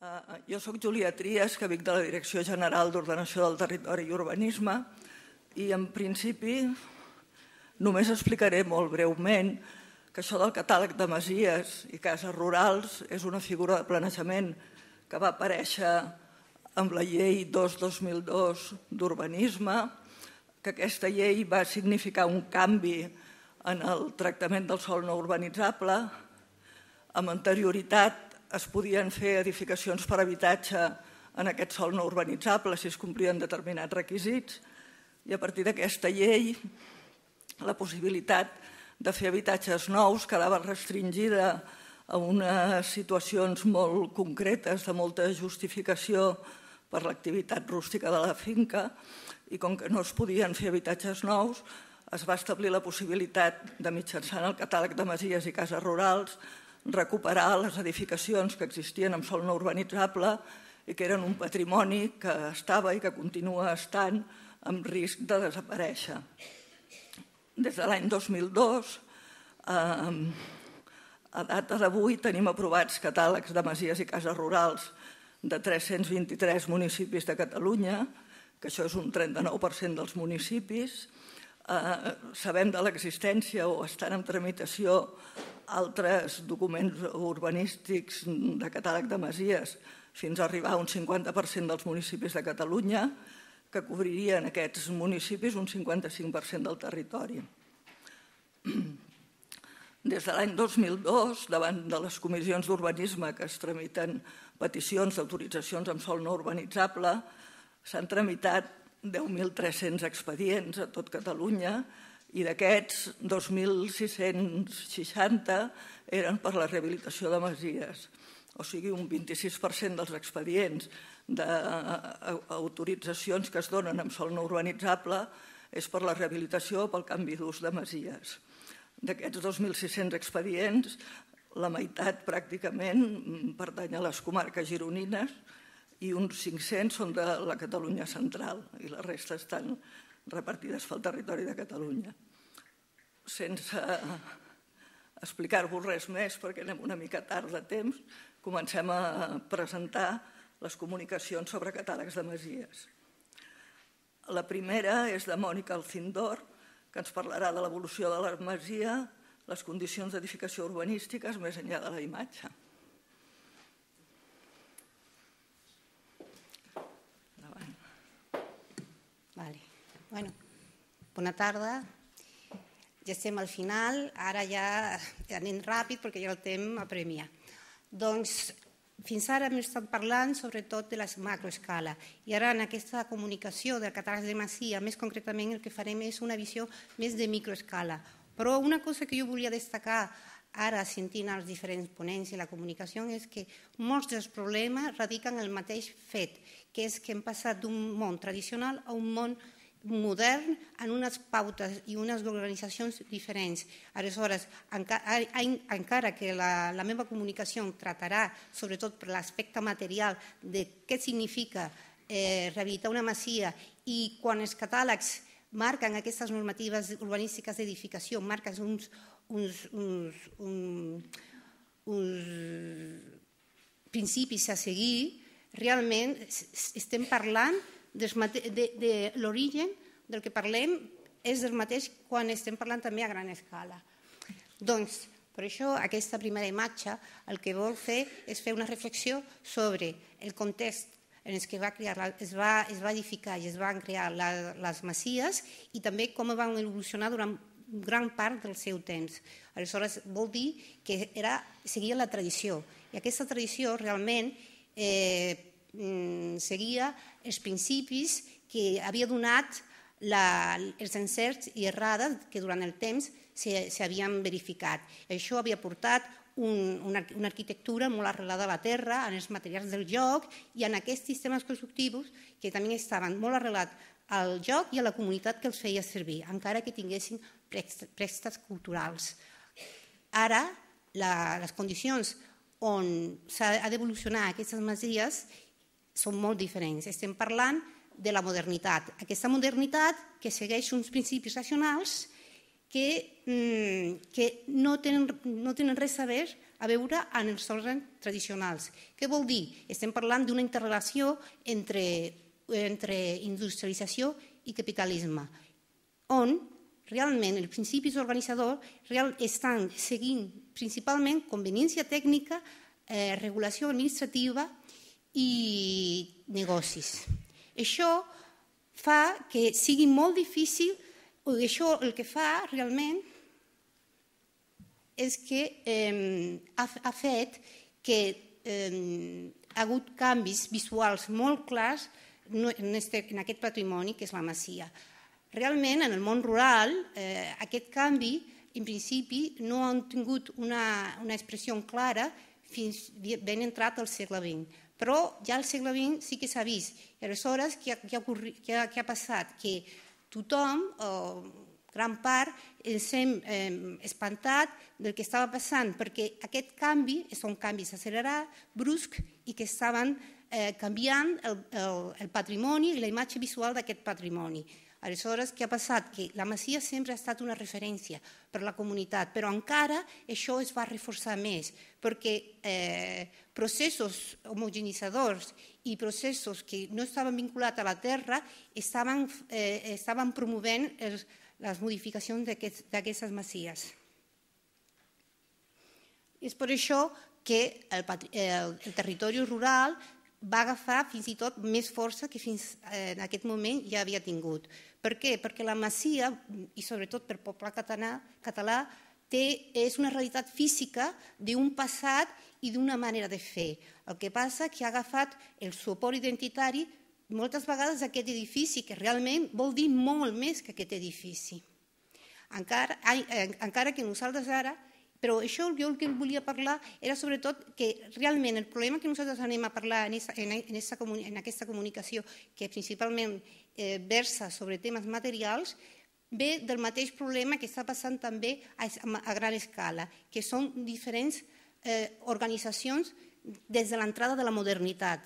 Jo soc Júlia Trias, que vinc de la Direcció General d'Ordenació del Territori i Urbanisme, i en principi només explicaré molt breument que això del catàleg de masies i cases rurals és una figura de planejament que va aparèixer amb la llei 2/2002 d'urbanisme, que aquesta llei va significar un canvi en el tractament del sòl no urbanitzable. Amb anterioritat es podien fer edificacions per habitatge en aquest sòl no urbanitzable si es complien determinats requisits, i a partir d'aquesta llei la possibilitat de fer habitatges nous quedava restringida a unes situacions molt concretes de molta justificació per l'activitat rústica de la finca, i com que no es podien fer habitatges nous, es va establir la possibilitat de, mitjançant el catàleg de masies i cases rurals, recuperar les edificacions que existien en sòl no urbanitzable i que eren un patrimoni que estava i que continua estant amb risc de desaparèixer. Des de l'any 2002, a data d'avui, tenim aprovats catàlegs de masies i cases rurals de 323 municipis de Catalunya, que això és un 39% dels municipis. Sabem de l'existència o estan en tramitació altres documents urbanístics de catàleg de masies fins a arribar a un 50% dels municipis de Catalunya, que cobririen aquests municipis un 55% del territori. Des de l'any 2002, davant de les comissions d'urbanisme que es tramiten peticions d'autoritzacions amb sòl no urbanitzable, s'han tramitat 10.300 expedients a tot Catalunya, i d'aquests 2.660 eren per la rehabilitació de masies. O sigui, un 26% dels expedients d'autoritzacions que es donen amb sòl no urbanitzable és per la rehabilitació o pel canvi d'ús de masies. D'aquests 2.600 expedients, la meitat pràcticament pertany a les comarques gironines i uns 500 són de la Catalunya central i la resta estan repartides pel territori de Catalunya. Sense explicar-vos res més, perquè anem una mica tard de temps, comencem a presentar les comunicacions sobre catàlegs de masies. La primera és de Mònica Alcindor, que ens parlarà de l'evolució de la masia, les condicions d'edificació urbanístiques més enllà de la imatge. Bueno, bona tarda. Ja estem al final, ara ja anem ràpid perquè ja el temps apremia. Doncs fins ara hem estat parlant sobretot de la macroescala i ara en aquesta comunicació del catàleg de masia, més concretament el que farem és una visió més de microescala. Però una cosa que jo volia destacar ara sentint els diferents ponents i la comunicació és que molts dels problemes radiquen en el mateix fet, que és que hem passat d'un món tradicional a un món modern en unes pautes i unes organitzacions diferents. Aleshores, encara que la meva comunicació tratarà sobretot per l'aspecte material de què significa rehabilitar una masia i quan els catàlegs marquen aquestes normatives urbanístiques d'edificació, marquen uns principis a seguir, realment estem parlant de l'origen del que parlem és el mateix quan estem parlant també a gran escala. Doncs, per això, aquesta primera imatge el que vol fer és fer una reflexió sobre el context en què es va edificar i es van crear les masies i també com van evolucionar durant gran part del seu temps. Aleshores, vol dir que seguia la tradició i aquesta tradició realment seguia els principis que havia donat els encerts i errades que durant el temps s'havien verificat. Això havia portat una arquitectura molt arrelada a la terra, en els materials del joc i en aquests sistemes constructius que també estaven molt arrelats al joc i a la comunitat que els feia servir, encara que tinguessin préstecs culturals. Ara, les condicions on s'ha d'evolucionar aquestes masies són molt diferents. Estem parlant de la modernitat. Aquesta modernitat que segueix uns principis racionals que no tenen res a veure a veure en els òrgans tradicionals. Què vol dir? Estem parlant d'una interrelació entre industrialització i capitalisme, on realment els principis organitzadors estan seguint principalment conveniència tècnica, regulació administrativa i negocis. Això fa que sigui molt difícil, això el que fa realment és que ha fet que ha hagut canvis visuals molt clars en aquest patrimoni que és la masia. Realment, en el món rural, aquest canvi, en principi, no han tingut una expressió clara fins ben entrat al segle XX. Però ja al segle XX sí que s'ha vist. I aleshores, què ha passat? Que tothom, gran part, ens hem espantat del que estava passant, perquè aquest canvi són canvis accelerats, bruscs, i que estaven canviant el patrimoni i la imatge visual d'aquest patrimoni. Aleshores, què ha passat? Que la masia sempre ha estat una referència per a la comunitat, però encara això es va reforçar més, perquè processos homogenitzadors i processos que no estaven vinculats a la terra estaven promovent les modificacions d'aquestes masies. És per això que el territori rural va agafar fins i tot més força que fins en aquest moment ja havia tingut. Per què? Perquè la masia, i sobretot per poble català, és una realitat física d'un passat i d'una manera de fer. El que passa és que ha agafat el suport identitari moltes vegades d'aquest edifici, que realment vol dir molt més que aquest edifici. Encara que nosaltres ara... Però això jo el que volia parlar era sobretot que realment el problema que nosaltres anem a parlar en aquesta comunicació, que principalment versa sobre temes materials, ve del mateix problema que està passant també a gran escala, que són diferents organitzacions des de l'entrada de la modernitat.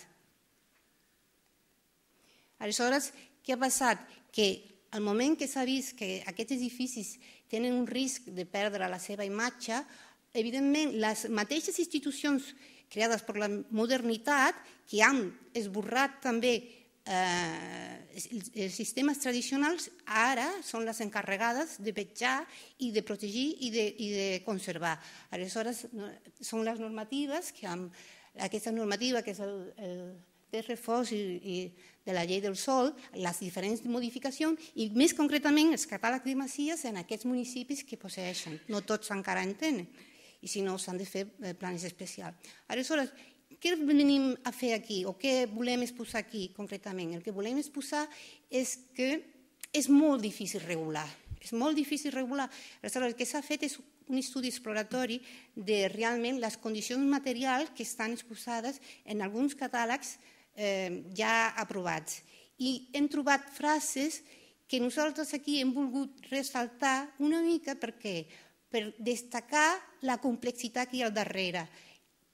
Aleshores, què ha passat? Que al moment que s'ha vist que aquests edificis tenen un risc de perdre la seva imatge, evidentment les mateixes institucions creades per la modernitat, que han esborrat també els sistemes tradicionals, ara són les encarregades de vetllar i de protegir i de conservar. Aleshores, són les normatives, aquesta normativa que és el reforç i de la llei del sòl, les diferents modificacions i més concretament els catàlegs de masies en aquests municipis que posseeixen. No tots encara en tenen i si no s'han de fer plans especials. Aleshores, què venim a fer aquí o què volem exposar aquí concretament? El que volem exposar és que és molt difícil regular. És molt difícil regular. Aleshores, el que s'ha fet és un estudi exploratori de realment les condicions materials que estan exposades en alguns catàlegs ja aprovats. I hem trobat frases que nosaltres aquí hem volgut ressaltar una mica perquè per destacar la complexitat que hi ha al darrere.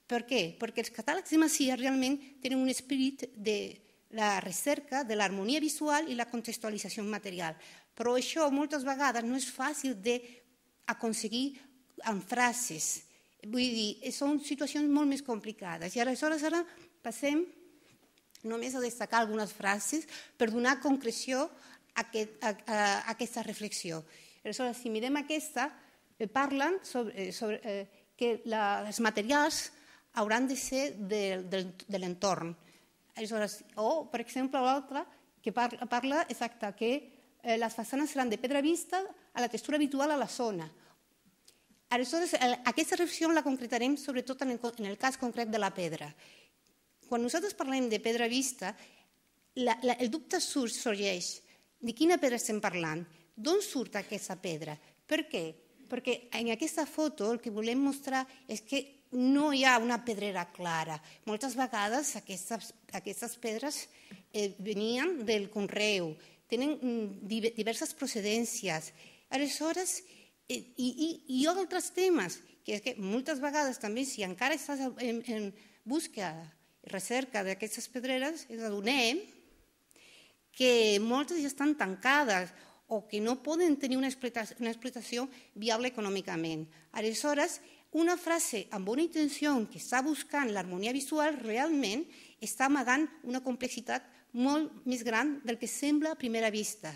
Per què? Perquè els catàlegs de masia realment tenen un esperit de la recerca de l'harmonia visual i la contextualització material. Però això moltes vegades no és fàcil d'aconseguir amb frases. Vull dir, són situacions molt més complicades. I aleshores ara passem només a destacar algunes frases per donar concreció a aquesta reflexió. Aleshores, si mirem aquesta, parlen sobre que els materials hauran de ser de l'entorn. O, per exemple, l'altra que parla exacte que les façanes seran de pedra vista a la textura habitual a la zona. Aleshores, aquesta reflexió la concretarem sobretot en el cas concret de la pedra. Quan nosaltres parlem de pedra vista, el dubte sorgeix de quina pedra estem parlant, d'on surt aquesta pedra, per què? Perquè en aquesta foto el que volem mostrar és que no hi ha una pedrera clara. Moltes vegades aquestes pedres venien del conreu, tenen diverses procedències. Aleshores, i altres temes, que és que moltes vegades també, si encara estàs en búsqueda i recerca d'aquestes pedreres, ens adonem que moltes ja estan tancades o que no poden tenir una explotació viable econòmicament. Aleshores, una frase amb bona intenció que està buscant l'harmonia visual realment està amagant una complexitat molt més gran del que sembla a primera vista.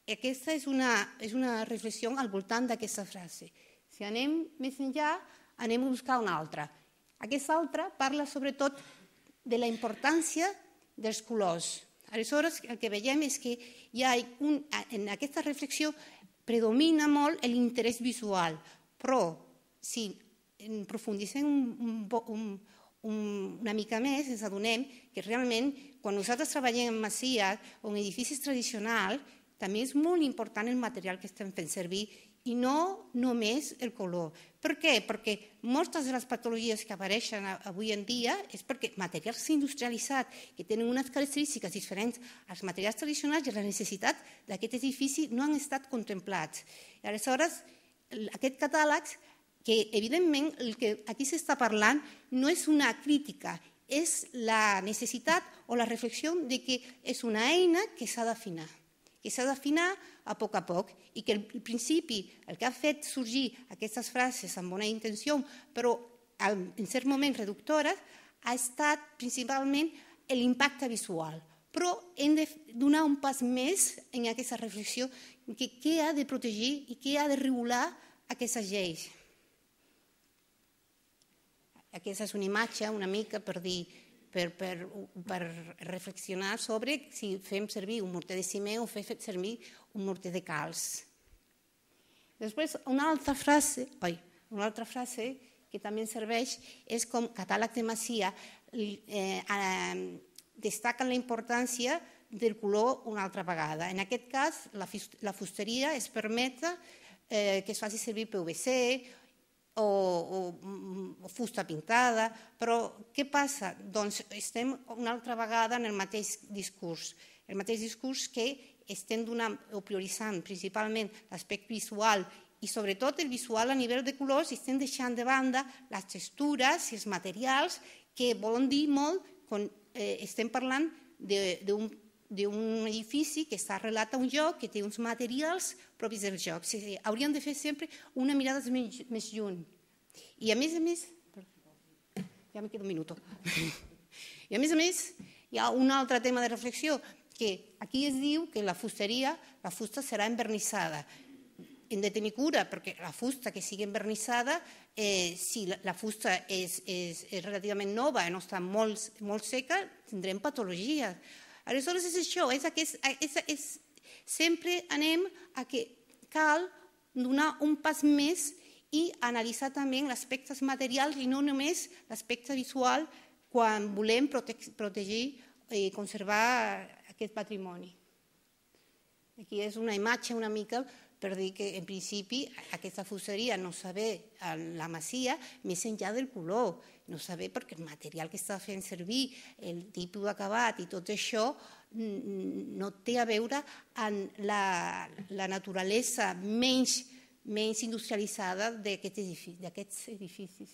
Aquesta és una reflexió al voltant d'aquesta frase. Si anem més enllà, anem a buscar una altra. Aquesta altra parla sobretot de la importància dels colors. Aleshores, el que veiem és que en aquesta reflexió predomina molt l'interès visual, però si profundissem una mica més ens adonem que realment quan nosaltres treballem en masies o en edificis tradicionals també és molt important el material que estem fent servir i no només el color. Per què? Perquè moltes de les patologies que apareixen avui en dia és perquè materials industrialitzats que tenen unes característiques diferents als materials tradicionals i la necessitat d'aquest edifici no han estat contemplats. I aleshores, aquest catàleg, que evidentment el que aquí s'està parlant no és una crítica, és la necessitat o la reflexió de que és una eina que s'ha d'afinar. Que s'ha d'afinar a poc i que al principi el que ha fet sorgir aquestes frases amb bona intenció, però en certs moments reductores, ha estat principalment l'impacte visual. Però hem de donar un pas més en aquesta reflexió de què ha de protegir i què ha de regular aquestes lleis. Aquesta és una imatge una mica per dir per reflexionar sobre si fem servir un morter de ciment o fem servir un morter de calç. Després, una altra frase que també serveix és com catàleg de masia, destaquen la importància del color una altra vegada. En aquest cas, la fusteria es permet que es faci servir PVC o fusta pintada, però què passa? Doncs estem una altra vegada en el mateix discurs que estem donant o prioritzant principalment l'aspecte visual i sobretot el visual a nivell de colors i estem deixant de banda les textures i els materials que volen dir molt quan estem parlant d'un edifici que està arrelat a un lloc, que té uns materials propis del lloc. Hauríem de fer sempre una mirada més lluny. I a més, ja me queda un minut. I a més, hi ha un altre tema de reflexió, que aquí es diu que la fusta serà envernissada. Hem de tenir cura, perquè la fusta que sigui envernissada, si la fusta és relativament nova i no està molt seca, tindrem patologies. Aleshores és això, sempre anem a que cal donar un pas més i analitzar també l'aspecte material i no només l'aspecte visual quan volem protegir i conservar aquest patrimoni. Aquí és una imatge una mica per dir que en principi aquesta fusteria no saber la masia més enllà del color, no saber perquè el material que està fent servir, el tipus d'acabat i tot això no té a veure amb la naturalesa menys industrialitzada d'aquests edificis.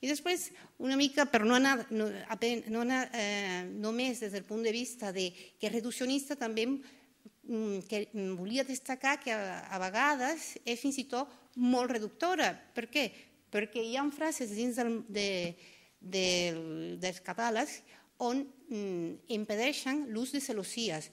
I després, una mica, per no anar només des del punt de vista que és reduccionista, també volia destacar que a vegades és fins i tot molt reductora. Per què? Perquè hi ha frases dins dels catàlegs on impedeixen l'ús de celosies.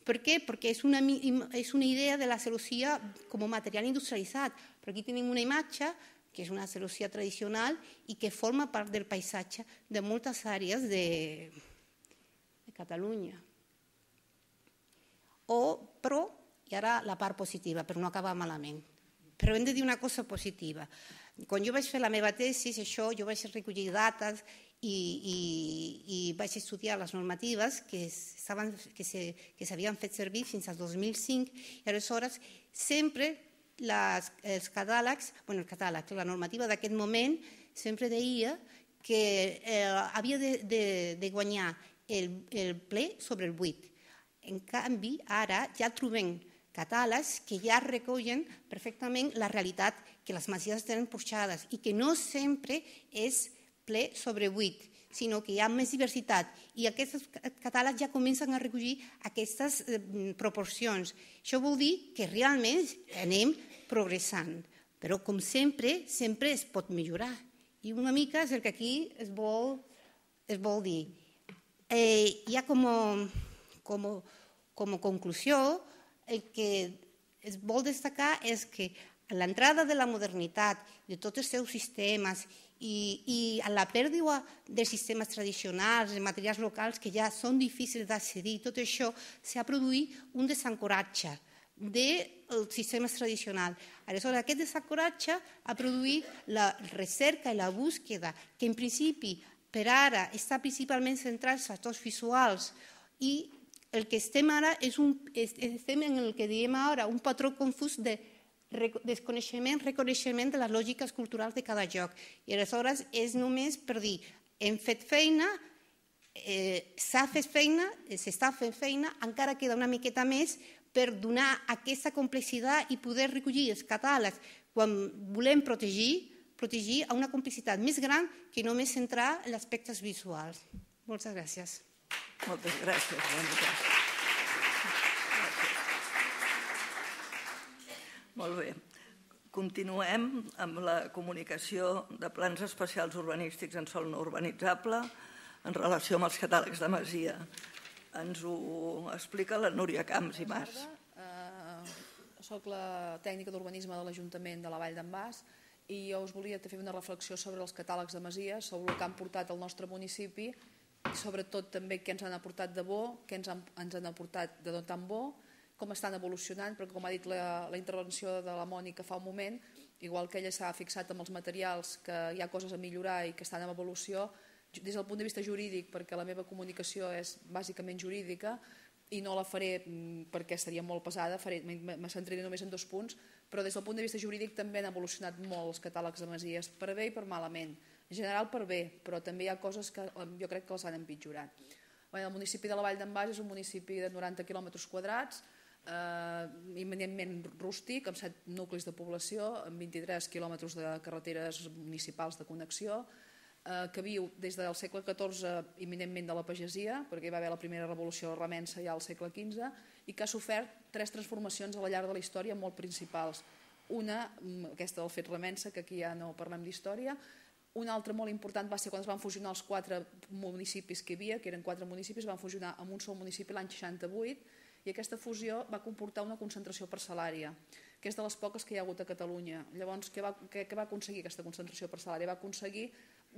Per què? Perquè és una idea de la celosia com a material industrialitzat. Per aquí tenim una imatge que és una celosia tradicional i que forma part del paisatge de moltes àrees de Catalunya. Però, i ara la part positiva, per no acabar malament, però hem de dir una cosa positiva. Quan jo vaig fer la meva tesi, jo vaig recollir dates i vaig estudiar les normatives que s'havien fet servir fins al 2005 i aleshores sempre els catàlegs, la normativa d'aquest moment sempre deia que havia de guanyar el ple sobre el buit. En canvi, ara ja trobem catàlegs que ja recollen perfectament la realitat que les masies tenen porxades i que no sempre és ple sobre buit, sinó que hi ha més diversitat i aquests catàlegs ja comencen a recollir aquestes proporcions. Això vol dir que realment anem progressant, Però, com sempre, sempre es pot millorar. I una mica és el que aquí es vol dir. Ja com a conclusió, el que es vol destacar és que l'entrada de la modernitat, de tots els seus sistemes i a la pèrdua dels sistemes tradicionals, de materials locals que ja són difícils d'accedir, tot això s'ha produït un desancoratge dels sistemes tradicionals. Aleshores, aquest desancoratge ha produït la recerca i la búsqueda, que en principi per ara està principalment centrat en els factors visuals, i el que estem ara estem en el que diem ara un patró confús de desconeixement, reconeixement de les lògiques culturals de cada lloc. I aleshores és només per dir, hem fet feina, s'ha fet feina, s'està fent feina, encara queda una miqueta més per donar aquesta complexitat i poder recollir els catàlegs quan volem protegir a una complicitat més gran que només centrar en aspectes visuals. Moltes gràcies. Moltes gràcies, Mònica. Molt bé. Continuem amb la comunicació de plans especials urbanístics en sòl no urbanitzable en relació amb els catàlegs de masia. Ens ho explica la Núria Camps i Mas. Soc la tècnica d'urbanisme de l'Ajuntament de la Vall d'en Bas i jo us volia fer una reflexió sobre els catàlegs de masies, sobre el que han portat al nostre municipi i sobretot també què ens han aportat de bo, què ens han aportat de no tan bo, com estan evolucionant, perquè com ha dit la intervenció de la Mònica fa un moment, igual que ella s'ha fixat amb els materials, que hi ha coses a millorar i que estan en evolució, des del punt de vista jurídic, perquè la meva comunicació és bàsicament jurídica i no la faré perquè seria molt pesada, me centraré només en 2 punts, però des del punt de vista jurídic també han evolucionat molt els catàlegs de masies, per bé i per malament. En general per bé, però també hi ha coses que jo crec que les han empitjorat. El municipi de la Vall d'en Bas és un municipi de 90 quilòmetres quadrats, eminentment rústic, amb 7 nuclis de població, amb 23 quilòmetres de carreteres municipals de connexió, que viu des del segle XIV eminentment de la pagesia, perquè hi va haver la primera revolució remensa ja al segle XV, i que ha sofert 3 transformacions a la llarg de la història molt principals. Una, aquesta del fet remensa, que aquí ja no parlem d'història. Una altra molt important va ser quan es van fusionar els 4 municipis que hi havia, que eren 4 municipis, van fusionar en un sol municipi l'any 68, i aquesta fusió va comportar una concentració parcel·lària, que és de les poques que hi ha hagut a Catalunya. Llavors, què va aconseguir aquesta concentració parcel·lària? Va aconseguir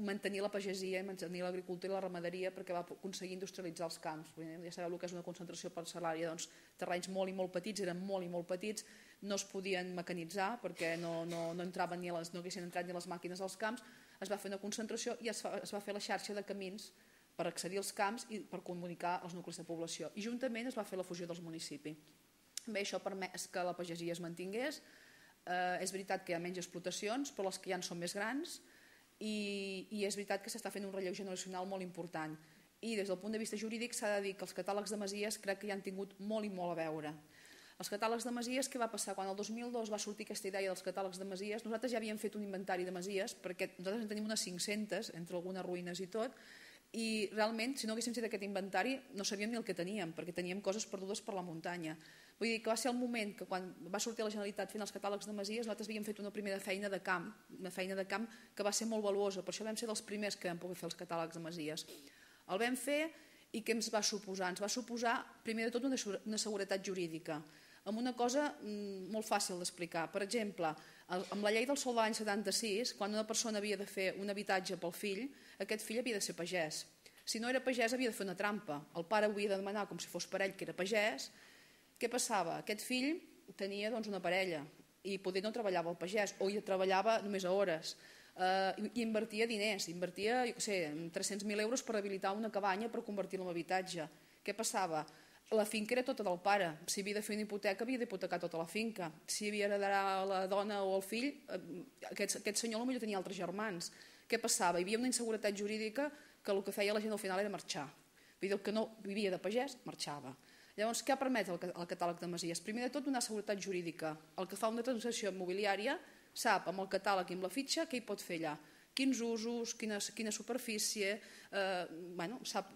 mantenir la pagesia, mantenir l'agricultura i la ramaderia, perquè va aconseguir industrialitzar els camps. Ja sabeu el que és una concentració parcel·lària, doncs terrenys molt i molt petits, eren molt i molt petits, no es podien mecanitzar perquè no haguessin entrat ni les màquines als camps, es va fer una concentració i es va fer la xarxa de camins per accedir als camps i per comunicar els nuclis de població. I juntament es va fer la fusió dels municipis. Bé, això ha permès que la pagesia es mantingués. És veritat que hi ha menys explotacions, però les que hi ha són més grans, i és veritat que s'està fent un relleu generacional molt important. I des del punt de vista jurídic s'ha de dir que els catàlegs de masies crec que hi han tingut molt i molt a veure. Els catàlegs de masies, què va passar? Quan el 2002 va sortir aquesta idea dels catàlegs de masies, nosaltres ja havíem fet un inventari de masies, perquè nosaltres en tenim unes 500, entre algunes ruïnes i tot, i realment, si no haguéssim fet aquest inventari, no sabíem ni el que teníem, perquè teníem coses perdudes per la muntanya. Vull dir que va ser el moment que quan va sortir la Generalitat fent els catàlegs de masies, nosaltres havíem fet una primera feina de camp, una feina de camp que va ser molt valuosa, per això vam ser dels primers que vam poder fer els catàlegs de masies. El vam fer i què ens va suposar? Ens va suposar, primer de tot, una seguretat jurídica, amb una cosa molt fàcil d'explicar. Per exemple, amb la llei del sòl de l'any 76, quan una persona havia de fer un habitatge pel fill, aquest fill havia de ser pagès. Si no era pagès havia de fer una trampa. El pare ho havia de demanar com si fos per ell, que era pagès. Què passava? Aquest fill tenia una parella i poder no treballava el pagès o hi treballava només a hores. I invertia diners, invertia 300.000 euros per habilitar una cabanya per convertir-la en habitatge. Què passava? La finca era tota del pare. Si havia de fer una hipoteca, havia d'hipotecar tota la finca. Si havia d'heredar la dona o el fill, aquest senyor potser tenia altres germans. Què passava? Hi havia una inseguretat jurídica que el que feia la gent al final era marxar. Vull dir, el que no vivia de pagès, marxava. Llavors, què ha permès el catàleg de masies? Primer de tot, donar seguretat jurídica. El que fa una transacció immobiliària sap, amb el catàleg i amb la fitxa, què hi pot fer allà. Quins usos, quina superfície, sap,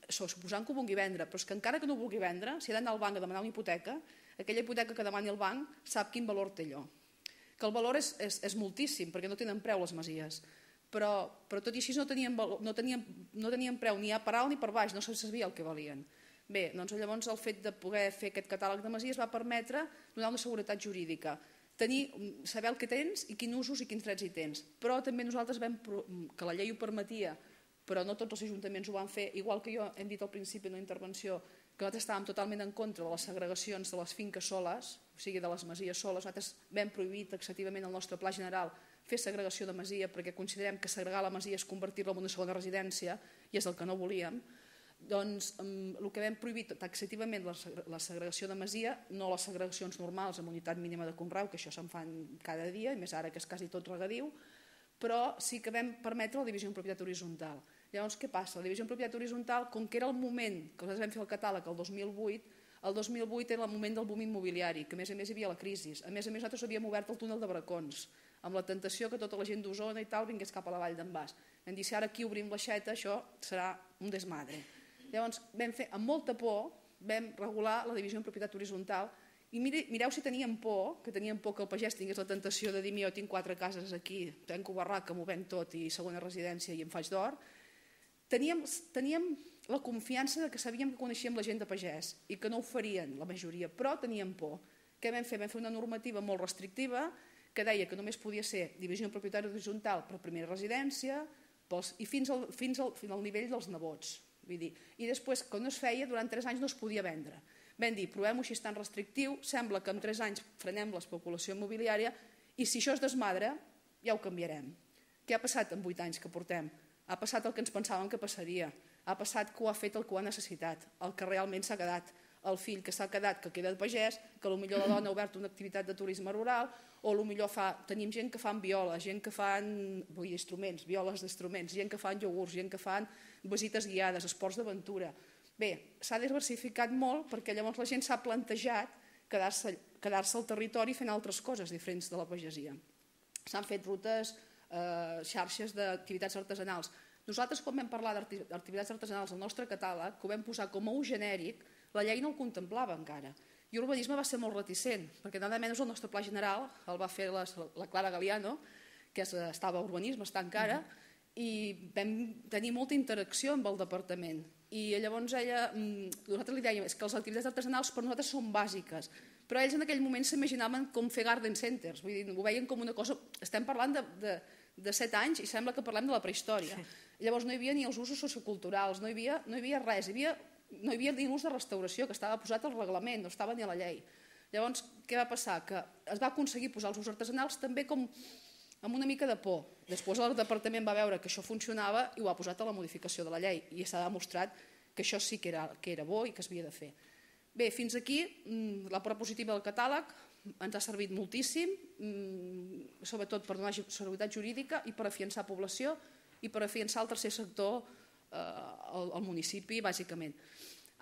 suposant que ho vulgui vendre, però és que encara que no ho vulgui vendre, si ha d'anar al banc a demanar una hipoteca, aquella hipoteca que demani el banc sap quin valor té allò. que el valor és moltíssim, perquè no tenen preu les masies, però tot i així no tenien preu ni a per alt ni per baix, no se sabia el que valien. Bé, doncs llavors el fet de poder fer aquest catàleg de masies va permetre donar una seguretat jurídica, saber el que tens i quins usos i quins drets hi tens. Però també nosaltres que la llei ho permetia, però no tots els ajuntaments ho van fer, igual que jo hem dit al principi en una intervenció que nosaltres estàvem totalment en contra de les segregacions de les finques soles, o sigui, de les masies soles. Nosaltres vam prohibir taxativament al nostre pla general fer segregació de masia perquè considerem que segregar la masia és convertir-la en una segona residència i és el que no volíem. Doncs el que vam prohibir taxativament la segregació de masia, no les segregacions normals amb unitat mínima de conreu, que això se'n fan cada dia, i més ara que és quasi tot regadiu, però sí que vam permetre la divisió en propietat horitzontal. Llavors, què passa? La divisió en propietat horitzontal, com que era el moment que nosaltres vam fer el catàleg el 2008 era el moment del boom immobiliari, que a més hi havia la crisi. A més nosaltres havíem obert el túnel de Bracons, amb la tentació que tota la gent d'Osona i tal vingués cap a la Vall d'en Bas. Vam dir, si ara aquí obrim l'aixeta, això serà un desmadre. Llavors, vam fer amb molta por, vam regular la divisió en propietat horitzontal i mireu si teníem por, que el pagès tingués la tentació de dir, jo tinc 4 cases aquí, tanco barraca, m'ho venc tot i segona residència i em faig d'or. Teníem la confiança que sabíem que coneixíem la gent de pagès i que no ho farien la majoria, però teníem por. Què vam fer? Vam fer una normativa molt restrictiva que deia que només podia ser divisió en propietat horitzontal per primera residència i fins al nivell dels nebots. I després, quan no es feia, durant 3 anys no es podia vendre. Vam dir, provem-ho així tan restrictiu, sembla que en 3 anys frenem l'especulació immobiliària i si això es desmadra, ja ho canviarem. Què ha passat en 8 anys que portem? Ha passat el que ens pensàvem que passaria. Ha passat que ho ha fet el que ho ha necessitat, el que realment s'ha quedat. El fill que s'ha quedat, que queda de pagès, que potser la dona ha obert una activitat de turisme rural, o potser tenim gent que fan viola, gent que fan instruments, violes d'instruments, gent que fan iogurts, gent que fan visites guiades, esports d'aventura. Bé, s'ha diversificat molt perquè llavors la gent s'ha plantejat quedar-se al territori fent altres coses diferents de la pagesia. S'han fet rutes, xarxes d'activitats artesanals. Nosaltres, quan vam parlar d'activitats artesanals al nostre catàleg, que ho vam posar com a ús genèric, la llei no el contemplava encara. I urbanisme va ser molt reticent, perquè nada menys el nostre pla general el va fer la Clara Galiano, que estava a urbanisme, està encara, i vam tenir molta interacció amb el departament. I llavors nosaltres li dèiem que les activitats artesanals per nosaltres són bàsiques, però ells en aquell moment s'imaginaven com fer garden centers, vull dir, ho veien com una cosa... Estem parlant de 7 anys i sembla que parlem de la prehistòria. Llavors no hi havia ni els usos socioculturals, no hi havia res, no hi havia ni l'ús de restauració, que estava posat al reglament, no estava ni a la llei. Llavors, què va passar? Que es va aconseguir posar els usos artesanals també com amb una mica de por. Després el departament va veure que això funcionava i ho ha posat a la modificació de la llei i s'ha demostrat que això sí que era bo i que s'havia de fer. Bé, fins aquí la part positiva del catàleg ens ha servit moltíssim, sobretot per donar seguretat jurídica i per afiançar població i per afiançar el tercer sector al municipi, bàsicament.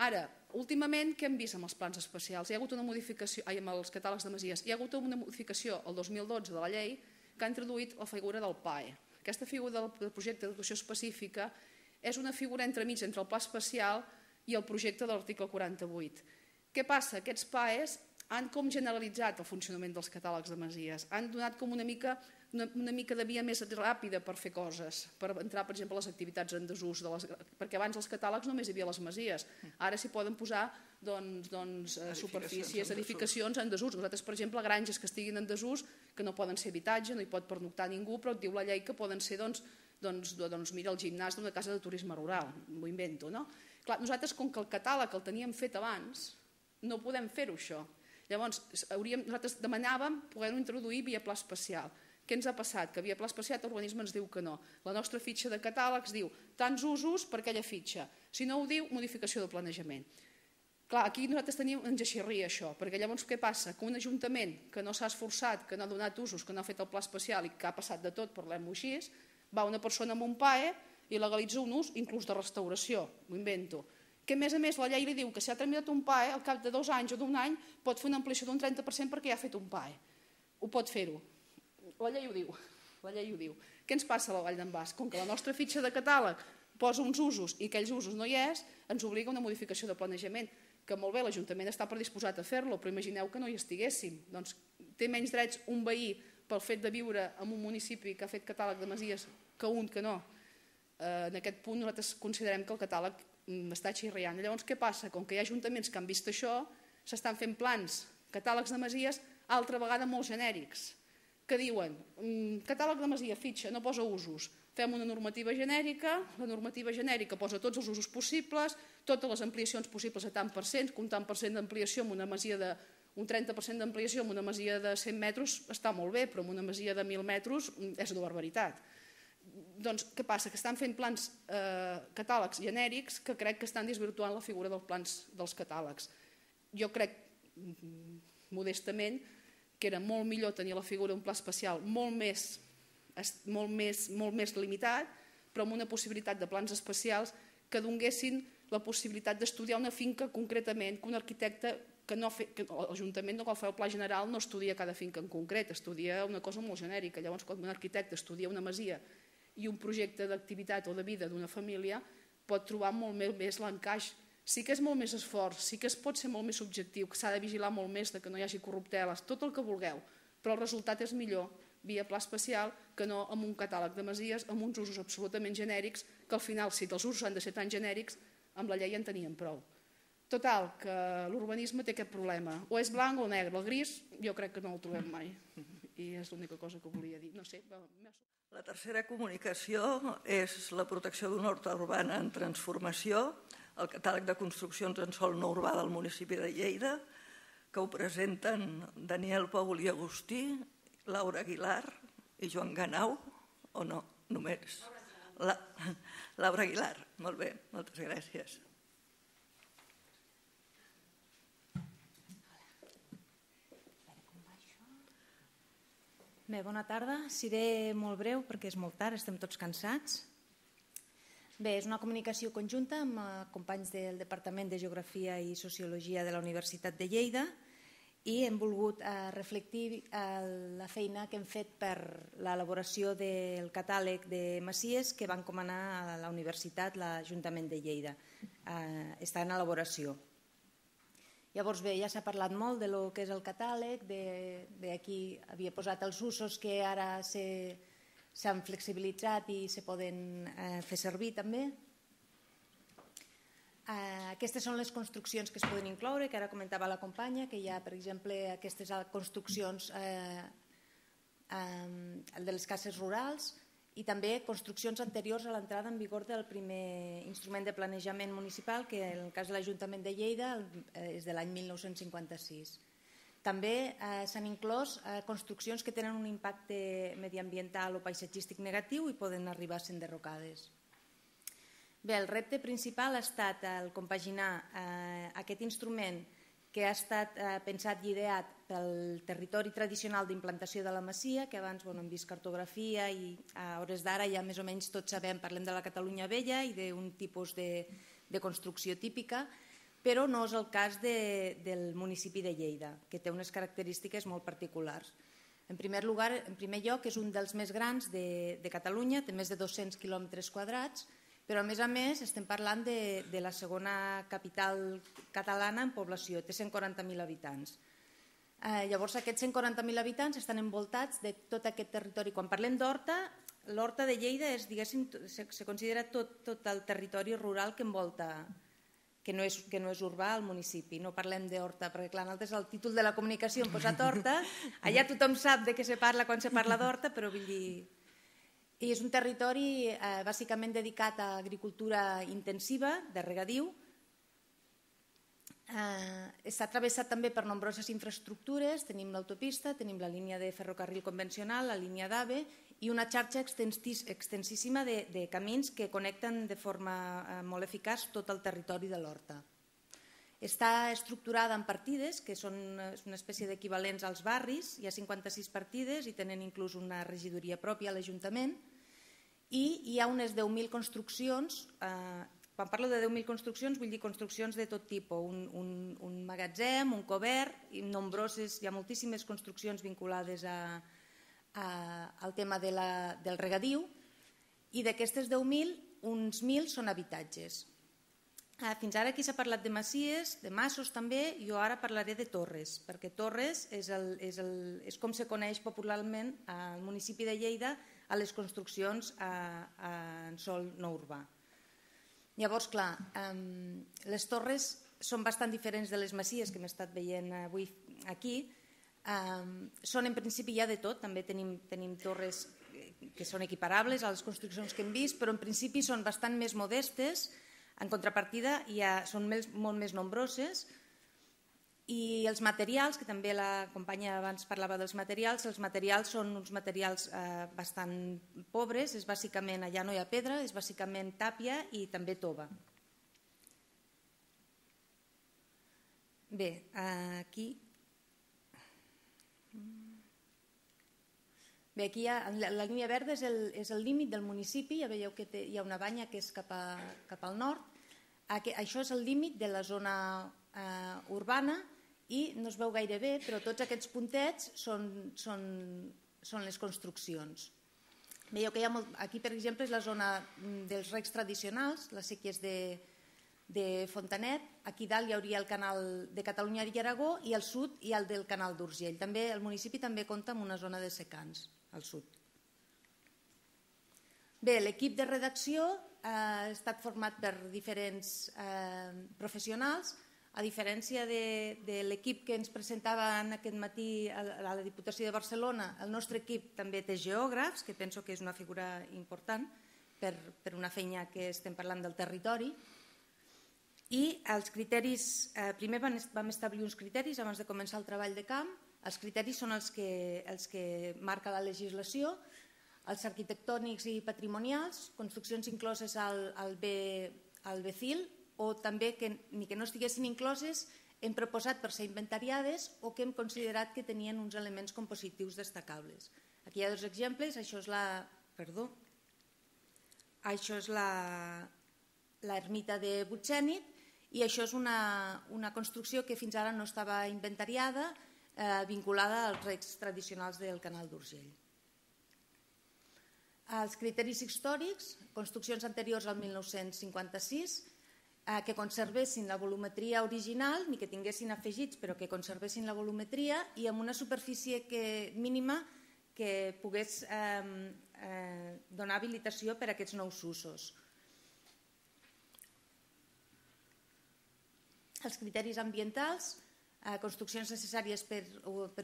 Ara, últimament, què hem vist amb els plans especials? Hi ha hagut una modificació, amb els catàlegs de masies, hi ha hagut una modificació el 2012 de la llei que ha introduït la figura del PAE. Aquesta figura del projecte d'educació específica és una figura entremig entre el pla especial i el projecte de l'article 48. Què passa? Aquests PAEs han com generalitzat el funcionament dels catàlegs de masies, han donat com una mica de via més ràpida per fer coses, per entrar, per exemple, a les activitats en desús, perquè abans els catàlegs només hi havia les masies, ara s'hi poden posar superfícies, edificacions en desús. Nosaltres, per exemple, granges que estiguin en desús, que no poden ser habitatge, no hi pot pernoctar ningú, però et diu la llei que poden ser, mira, el gimnàs d'una casa de turisme rural, m'ho invento, no? Clar, nosaltres, com que el catàleg el teníem fet abans, no podem fer-ho, això. Llavors, nosaltres demanàvem poder-ho introduir via pla especial. Què ens ha passat? Que via pla especial l'urbanisme ens diu que no. La nostra fitxa de catàlegs diu tants usos per aquella fitxa. Si no ho diu, modificació de planejament. Clar, aquí nosaltres ens aixirria això, perquè llavors què passa? Que un ajuntament que no s'ha esforçat, que no ha donat usos, que no ha fet el pla especial i que ha passat de tot, parlem-ho així, va una persona amb un PAE i legalitza un ús inclús de restauració, m'ho invento. Que a més la llei li diu que si ha tramitat un PAE, al cap de 2 anys o d'1 any pot fer una ampliació d'un 30% perquè ja ha fet un PAE. Ho pot fer-ho. La llei ho diu. Què ens passa a la Vall d'en Bas? Com que la nostra fitxa de catàleg posa uns usos i aquells usos no hi és, ens obliga a una modificació de planejament, que molt bé, l'Ajuntament està predisposat a fer-lo, però imagineu que no hi estiguéssim. Doncs té menys drets un veí pel fet de viure en un municipi que ha fet catàleg de masies que un que no. En aquest punt nosaltres considerem que el catàleg està xirriant. Llavors què passa? Com que hi ha ajuntaments que han vist això, s'estan fent plans, catàlegs de masies, altra vegada molt genèrics, que diuen catàleg de masia, fitxa, no posa usos, fem una normativa genèrica, la normativa genèrica posa tots els usos possibles, totes les ampliacions possibles a tant per cent, que un tant per cent d'ampliació en una masia de un 30% d'ampliació en una masia de 100 metres està molt bé, però en una masia de 1.000 metres és una barbaritat. Doncs què passa? Que estan fent plans catàlegs genèrics que crec que estan desvirtuant la figura dels plans dels catàlegs. Jo crec, modestament, que era molt millor tenir la figura d'un pla especial molt més limitat, però amb una possibilitat de plans especials que donguessin la possibilitat d'estudiar una finca concretament, que un arquitecte, que l'Ajuntament no cal fer el pla general, no estudia cada finca en concret, estudia una cosa molt genèrica. Llavors, quan un arquitecte estudia una masia i un projecte d'activitat o de vida d'una família, pot trobar molt més l'encaix. Sí que és molt més esforç, sí que es pot ser molt més subjectiu, que s'ha de vigilar molt més que no hi hagi corrupteles, tot el que vulgueu, però el resultat és millor via pla especial que no amb un catàleg de masies, amb uns usos absolutament genèrics, que al final, si els usos han de ser tan genèrics, amb la llei en tenien prou. Total, que l'urbanisme té aquest problema. O és blanc o negre. El gris jo crec que no el trobem mai. I és l'única cosa que volia dir. No sé. La tercera comunicació és la protecció d'una horta urbana en transformació, el catàleg de construccions en sòl no urbà del municipi de Lleida, que ho presenten Daniel Paul i Agustí, Laura Aguilar i Joan Ganau, o no, només? Laura Aguilar, molt bé, moltes gràcies. Bé, bona tarda. Seré molt breu perquè és molt tard, estem tots cansats. Bé, és una comunicació conjunta amb companys del Departament de Geografia i Sociologia de la Universitat de Lleida i hem volgut reflectir la feina que hem fet per l'elaboració del catàleg de masies que va encomanar a la Universitat l'Ajuntament de Lleida. Està en elaboració. Llavors bé, ja s'ha parlat molt de lo que és el catàleg, d'aquí havia posat els usos que ara s'han flexibilitzat i se poden fer servir també. Aquestes són les construccions que es poden incloure, que ara comentava la companya, que hi ha, per exemple, aquestes construccions de les cases rurals i també construccions anteriors a l'entrada en vigor del primer instrument de planejament municipal, que en el cas de l'Ajuntament de Lleida és de l'any 1956. També s'han inclòs construccions que tenen un impacte mediambiental o paisatgístic negatiu i poden arribar a ser enderrocades. Bé, el repte principal ha estat el compaginar aquest instrument que ha estat pensat i ideat pel territori tradicional d'implantació de la masia, que abans hem vist cartografia i a hores d'ara ja més o menys tots sabem, parlem de la Catalunya vella i d'un tipus de construcció típica, però no és el cas del municipi de Lleida, que té unes característiques molt particulars. En primer lloc, és un dels més grans de Catalunya, té més de 200 quilòmetres quadrats, però a més estem parlant de la segona capital catalana en població, té 140.000 habitants. Llavors aquests 140.000 habitants estan envoltats de tot aquest territori. Quan parlem d'horta, l'horta de Lleida és, diguéssim, se considera tot el territori rural que envolta, que no és urbà al municipi. No parlem d'horta, perquè clar, nosaltres al títol de la comunicació hem posat horta, allà tothom sap de què se parla quan se parla d'horta, però vull dir... I és un territori bàsicament dedicat a agricultura intensiva, de regadiu. Està travessat també per nombroses infraestructures, tenim l'autopista, tenim la línia de ferrocarril convencional, la línia d'AVE i una xarxa extensíssima de camins que connecten de forma molt eficaç tot el territori de l'horta. Està estructurada en partides, que són una espècie d'equivalents als barris. Hi ha 56 partides i tenen inclús una regidoria pròpia a l'Ajuntament. I hi ha unes 10.000 construccions. Quan parlo de 10.000 construccions vull dir construccions de tot tipus. Un magatzem, un cobert, i nombroses, hi ha moltíssimes construccions vinculades al tema del regadiu. I d'aquestes 10.000, uns 1.000 són habitatges. Fins ara aquí s'ha parlat de masies, de masos també, jo ara parlaré de torres, perquè torres és com se coneix popularment al municipi de Lleida a les construccions en sòl no urbà. Llavors, clar, les torres són bastant diferents de les masies que hem estat veient avui aquí. Són en principi ja de tot, també tenim torres que són equiparables a les construccions que hem vist, però en principi són bastant més modestes. En contrapartida, són molt més nombroses i els materials, que també la companya abans parlava dels materials, els materials són uns materials bastant pobres, és bàsicament, allà no hi ha pedra, és bàsicament tàpia i també tova. Bé, aquí... Bé, aquí la línia verda és el límit del municipi, ja veieu que hi ha una banya que és cap al nord. Això és el límit de la zona urbana i no es veu gaire bé, però tots aquests puntets són les construccions. Veieu que aquí, per exemple, és la zona dels recs tradicionals, les séquies de Fontanet. Aquí dalt hi hauria el canal de Catalunya i Aragó i al sud hi ha el del canal d'Urgell. El municipi també compta amb una zona de secans al sud. Bé, l'equip de redacció ha estat format per diferents professionals. A diferència de l'equip que ens presentava aquest matí a la Diputació de Barcelona, el nostre equip també té geògrafs, que penso que és una figura important per una feina que estem parlant del territori. I els criteris, primer vam establir uns criteris abans de començar el treball de camp. Els criteris són els que marca la legislació, els arquitectònics i patrimonials, construccions incloses al BCIL, o també ni que no estiguessin incloses hem proposat per ser inventariades o que hem considerat que tenien uns elements compositius destacables. Aquí hi ha dos exemples, això és l'ermita de Butxènit i això és una construcció que fins ara no estava inventariada, vinculada als recs tradicionals del canal d'Urgell. Els criteris històrics, construccions anteriors al 1956, que conservessin la volumetria original, ni que tinguessin afegits, però que conservessin la volumetria i amb una superfície mínima que pogués donar habilitació per a aquests nous usos. Els criteris ambientals, construccions necessàries per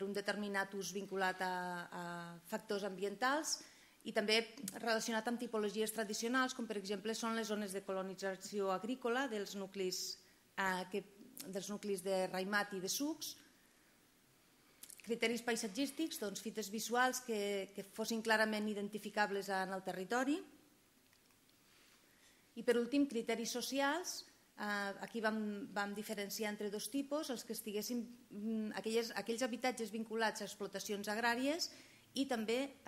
un determinat ús vinculat a factors ambientals i també relacionat amb tipologies tradicionals, com per exemple són les zones de colonització agrícola dels nuclis de raimat i de sucs. Criteris paisatgístics, fites visuals que fossin clarament identificables en el territori. I per últim, criteris socials. Aquí vam diferenciar entre dos tipus, els que estiguessin aquells habitatges vinculats a explotacions agràries i també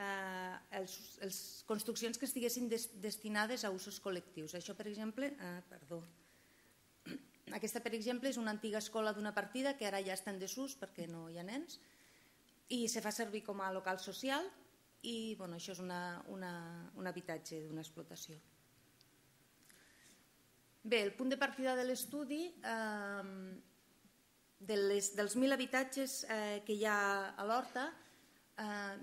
les construccions que estiguessin destinades a usos col·lectius. Això, per exemple, aquesta, per exemple, és una antiga escola d'una partida que ara ja està en desús perquè no hi ha nens i se fa servir com a local social i això és un habitatge d'una explotació. Bé, el punt de partida de l'estudi, dels 1.000 habitatges que hi ha a l'Horta,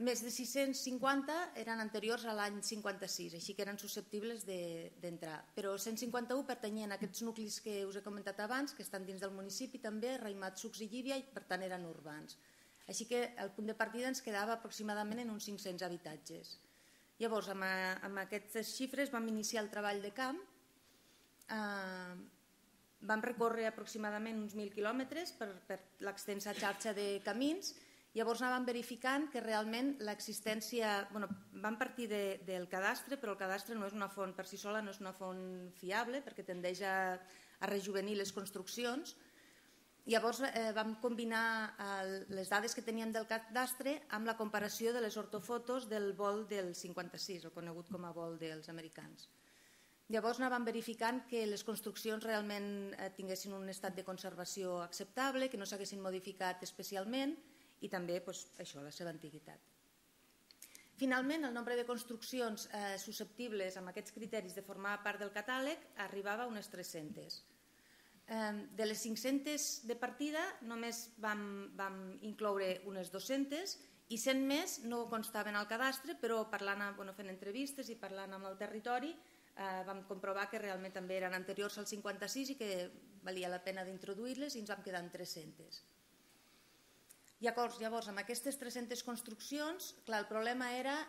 més de 650 eren anteriors a l'any 56, així que eren susceptibles d'entrar. Però 151 pertanyien a aquests nuclis que us he comentat abans, que estan dins del municipi també, Raimat, Sucs i Llívia, i per tant eren urbans. Així que el punt de partida ens quedava aproximadament en uns 500 habitatges. Llavors, amb aquestes xifres vam iniciar el treball de camp. Vam recórrer aproximadament uns 1.000 quilòmetres per l'extensa xarxa de camins. Llavors anàvem verificant que realment l'existència... Vam partir del cadastre, però el cadastre no és una font per si sola, no és una font fiable perquè tendeix a rejuvenir les construccions. Llavors vam combinar les dades que teníem del cadastre amb la comparació de les ortofotos del vol del 56, el conegut com a vol dels americans. Llavors anàvem verificant que les construccions realment tinguessin un estat de conservació acceptable, que no s'haguessin modificat especialment i també la seva antiguitat. Finalment, el nombre de construccions susceptibles amb aquests criteris de formar part del catàleg arribava a unes 300. de les 500 de partida només vam incloure unes 200 i 100 més no constaven al cadastre, però fent entrevistes i parlant amb el territori vam comprovar que realment també eren anteriors al 56 i que valia la pena d'introduir-les i ens vam quedar en 300. Llavors, amb aquestes 300 construccions, clar, el problema era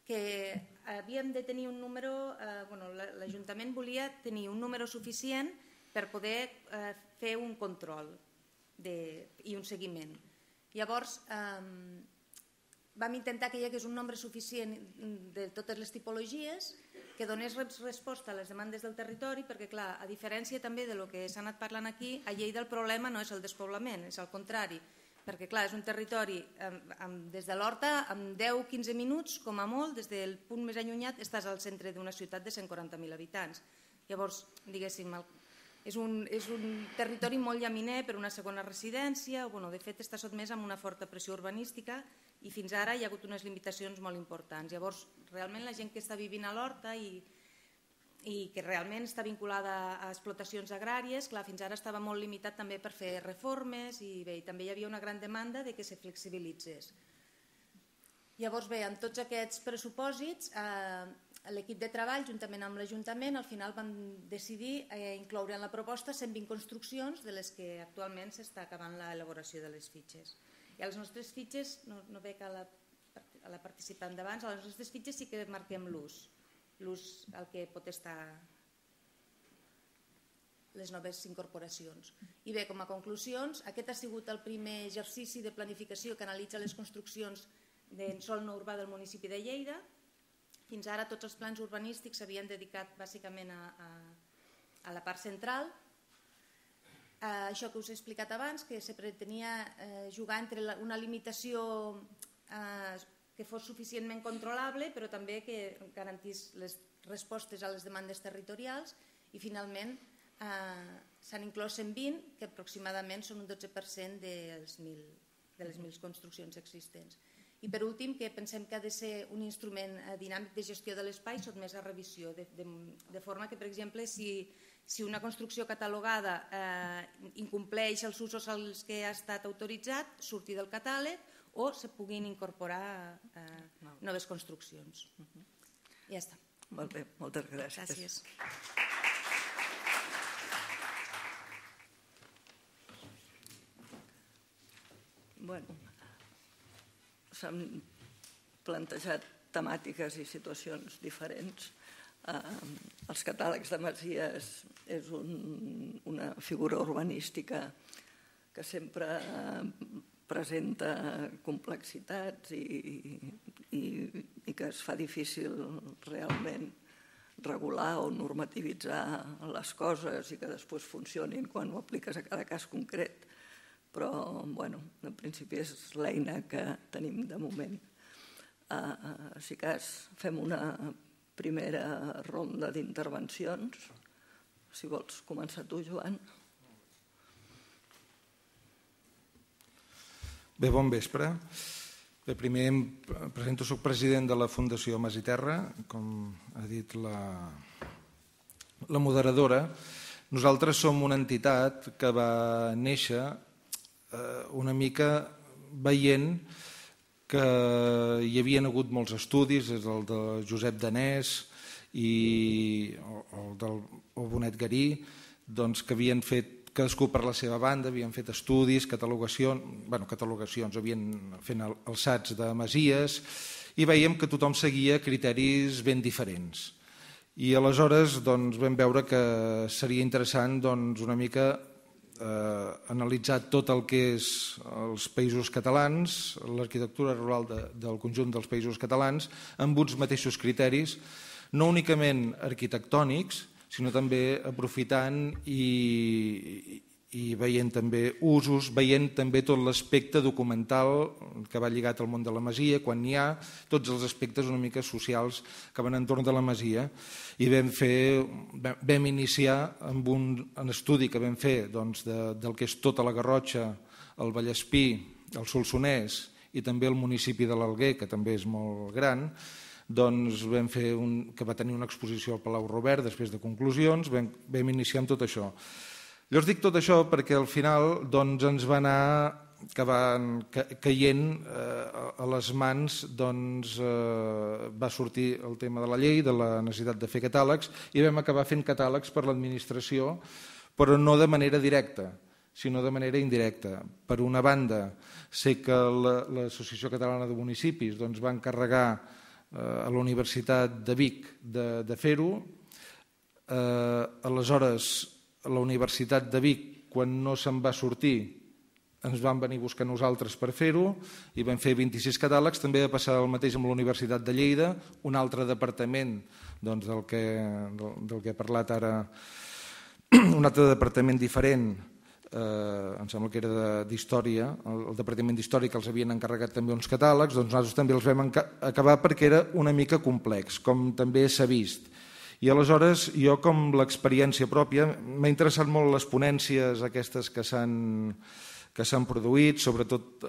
que havíem de tenir un número, l'Ajuntament volia tenir un número suficient per poder fer un control i un seguiment. Llavors, vam intentar que hi hagués un nombre suficient de totes les tipologies que donés resposta a les demandes del territori, perquè, clar, a diferència també del que s'ha anat parlant aquí, a Lleida el problema no és el despoblament, és al contrari, perquè, clar, és un territori des de l'Horta, amb 10-15 minuts, com a molt, des del punt més allunyat, estàs al centre d'una ciutat de 140.000 habitants. Llavors, diguéssim, és un territori molt llaminer per una segona residència, de fet està sotmès a una forta pressió urbanística i fins ara hi ha hagut unes limitacions molt importants. Llavors, realment la gent que està vivint a l'Horta i que realment està vinculada a explotacions agràries, clar, fins ara estava molt limitat també per fer reformes i també hi havia una gran demanda de que se flexibilitzés. Llavors, bé, amb tots aquests pressupòsits, l'equip de treball, juntament amb l'Ajuntament, al final vam decidir incloure en la proposta 120 construccions de les que actualment s'està acabant l'elaboració de les fitxes. I a les nostres fitxes, no veig a la participant d'abans, a les nostres fitxes sí que marquem l'ús al que pot estar les noves incorporacions. I bé, com a conclusions, aquest ha sigut el primer exercici de planificació que analitza les construccions de sòl no urbà del municipi de Lleida. Fins ara tots els plans urbanístics s'havien dedicat bàsicament a la part central. Això que us he explicat abans, que se pretenia jugar entre una limitació que fos suficientment controlable, però també que garantís les respostes a les demandes territorials, i finalment s'han inclòs 120, que aproximadament són un 12% de les 1.000 construccions existents. I per últim, que pensem que ha de ser un instrument dinàmic de gestió de l'espai sotmès a revisió, de forma que, per exemple, si una construcció catalogada incompleix els usos als que ha estat autoritzat, surti del catàleg o se puguin incorporar noves construccions. Ja està. Molt bé, moltes gràcies. Gràcies. Bueno, s'han plantejat temàtiques i situacions diferents. Els catàlegs de masies és una figura urbanística que sempre presenta complexitats i que es fa difícil realment regular o normativitzar les coses i que després funcionin quan ho apliques a cada cas concret. Però, bueno, en principi és l'eina que tenim de moment. Si cas, fem una primera ronda d'intervencions. Si vols començar tu, Joan. Bé, bon vespre. Bé, primer em presento, soc president de la Fundació Mas i Terra, com ha dit la moderadora. Nosaltres som una entitat que va néixer una mica veient que hi havien hagut molts estudis, des del de Josep Danés i el del Bonet Garí, que havien fet, cadascú per la seva banda, havien fet estudis, catalogacions, havien fet alçats de masies, i veiem que tothom seguia criteris ben diferents. I aleshores vam veure que seria interessant una mica analitzar tot el que és els països catalans, l'arquitectura rural del conjunt dels països catalans, amb uns mateixos criteris, no únicament arquitectònics, sinó també aprofitant i veient també usos, veient també tot l'aspecte documental que va lligat al món de la masia, quan n'hi ha, tots els aspectes una mica socials que van entorn de la masia. I vam iniciar amb un estudi que vam fer del que és tota la Garrotxa, el Vallespí, el Solsonès i també el municipi de l'Alguer, que també és molt gran, doncs vam fer que va tenir una exposició al Palau Robert després de conclusions, vam iniciar amb tot això. Llavors dic tot això perquè al final doncs, ens va anar caient a les mans, doncs, va sortir el tema de la llei, de la necessitat de fer catàlegs, i vam acabar fent catàlegs per l'administració, però no de manera directa, sinó de manera indirecta. Per una banda, sé que l'Associació Catalana de Municipis doncs, va encarregar a la Universitat de Vic de fer-ho. Aleshores, a la Universitat de Vic, quan no se'n va sortir, ens van venir a buscar nosaltres per fer-ho i vam fer 26 catàlegs. També va passar el mateix amb la Universitat de Lleida, un altre departament doncs, del que he parlat ara, un altre departament diferent, em sembla que era d'Història, el Departament d'Història que els havien encarregat també uns catàlegs, doncs nosaltres també els vam acabar perquè era una mica complex, com també s'ha vist. I aleshores jo, com l'experiència pròpia, m'ha interessat molt les ponències aquestes que s'han produït, sobretot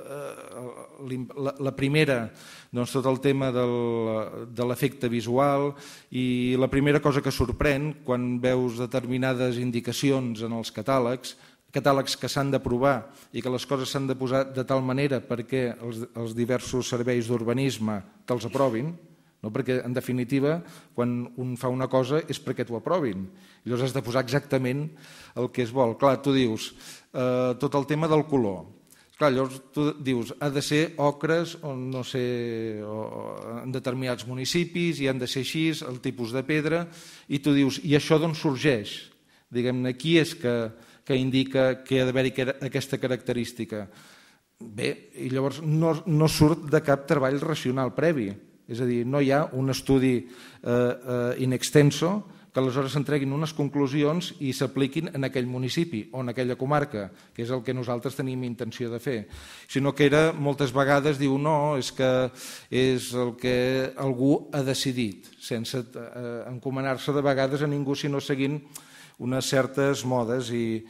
la primera, doncs tot el tema de l'efecte visual, i la primera cosa que sorprèn quan veus determinades indicacions en els catàlegs que s'han d'aprovar i que les coses s'han de posar de tal manera perquè els diversos serveis d'urbanisme te'ls aprovin, no? Perquè, en definitiva, quan un fa una cosa és perquè t'ho aprovin. I llavors has de posar exactament el que es vol. Clar, tu dius, tot el tema del color. Clar, llavors tu dius, ha de ser ocres o no sé, en determinats municipis, i han de ser així, el tipus de pedra, i tu dius, i això d'on sorgeix? Diguem-ne, qui és que indica que ha d'haver-hi aquesta característica? Bé, i llavors no surt de cap treball racional previ. És a dir, no hi ha un estudi in extenso que aleshores s'entreguin unes conclusions i s'apliquin en aquell municipi o en aquella comarca, que és el que nosaltres tenim intenció de fer. Sinó que era, moltes vegades, diu, no, és que és el que algú ha decidit, sense encomanar-se de vegades a ningú, sinó seguint unes certes modes i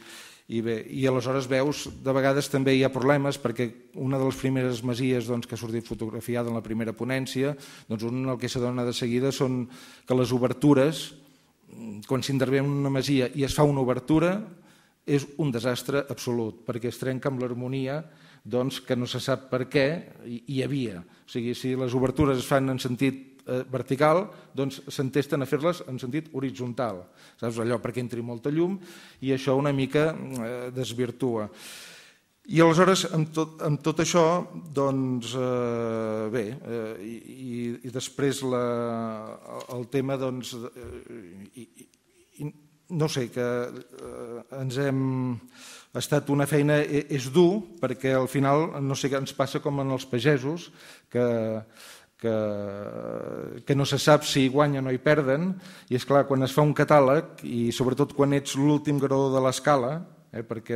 aleshores veus, de vegades també hi ha problemes perquè una de les primeres masies que ha sortit fotografiada en la primera ponència, doncs un el que s'adona de seguida són que les obertures, quan s'intervé en una masia i es fa una obertura, és un desastre absolut, perquè es trenca amb l'harmonia que no se sap per què hi havia. O sigui, si les obertures es fan en sentit vertical, doncs s'entesten a fer-les en sentit horitzontal, saps, allò perquè entri molta llum, i això una mica desvirtua. I aleshores, amb tot això, doncs, bé, i després el tema, doncs, no sé, que ens hem... Ha estat una feina, és dur, perquè al final, no sé què ens passa com en els pagesos, que no se sap si guanyen o hi perden, i és clar, quan es fa un catàleg, i sobretot quan ets l'últim graó de l'escala, perquè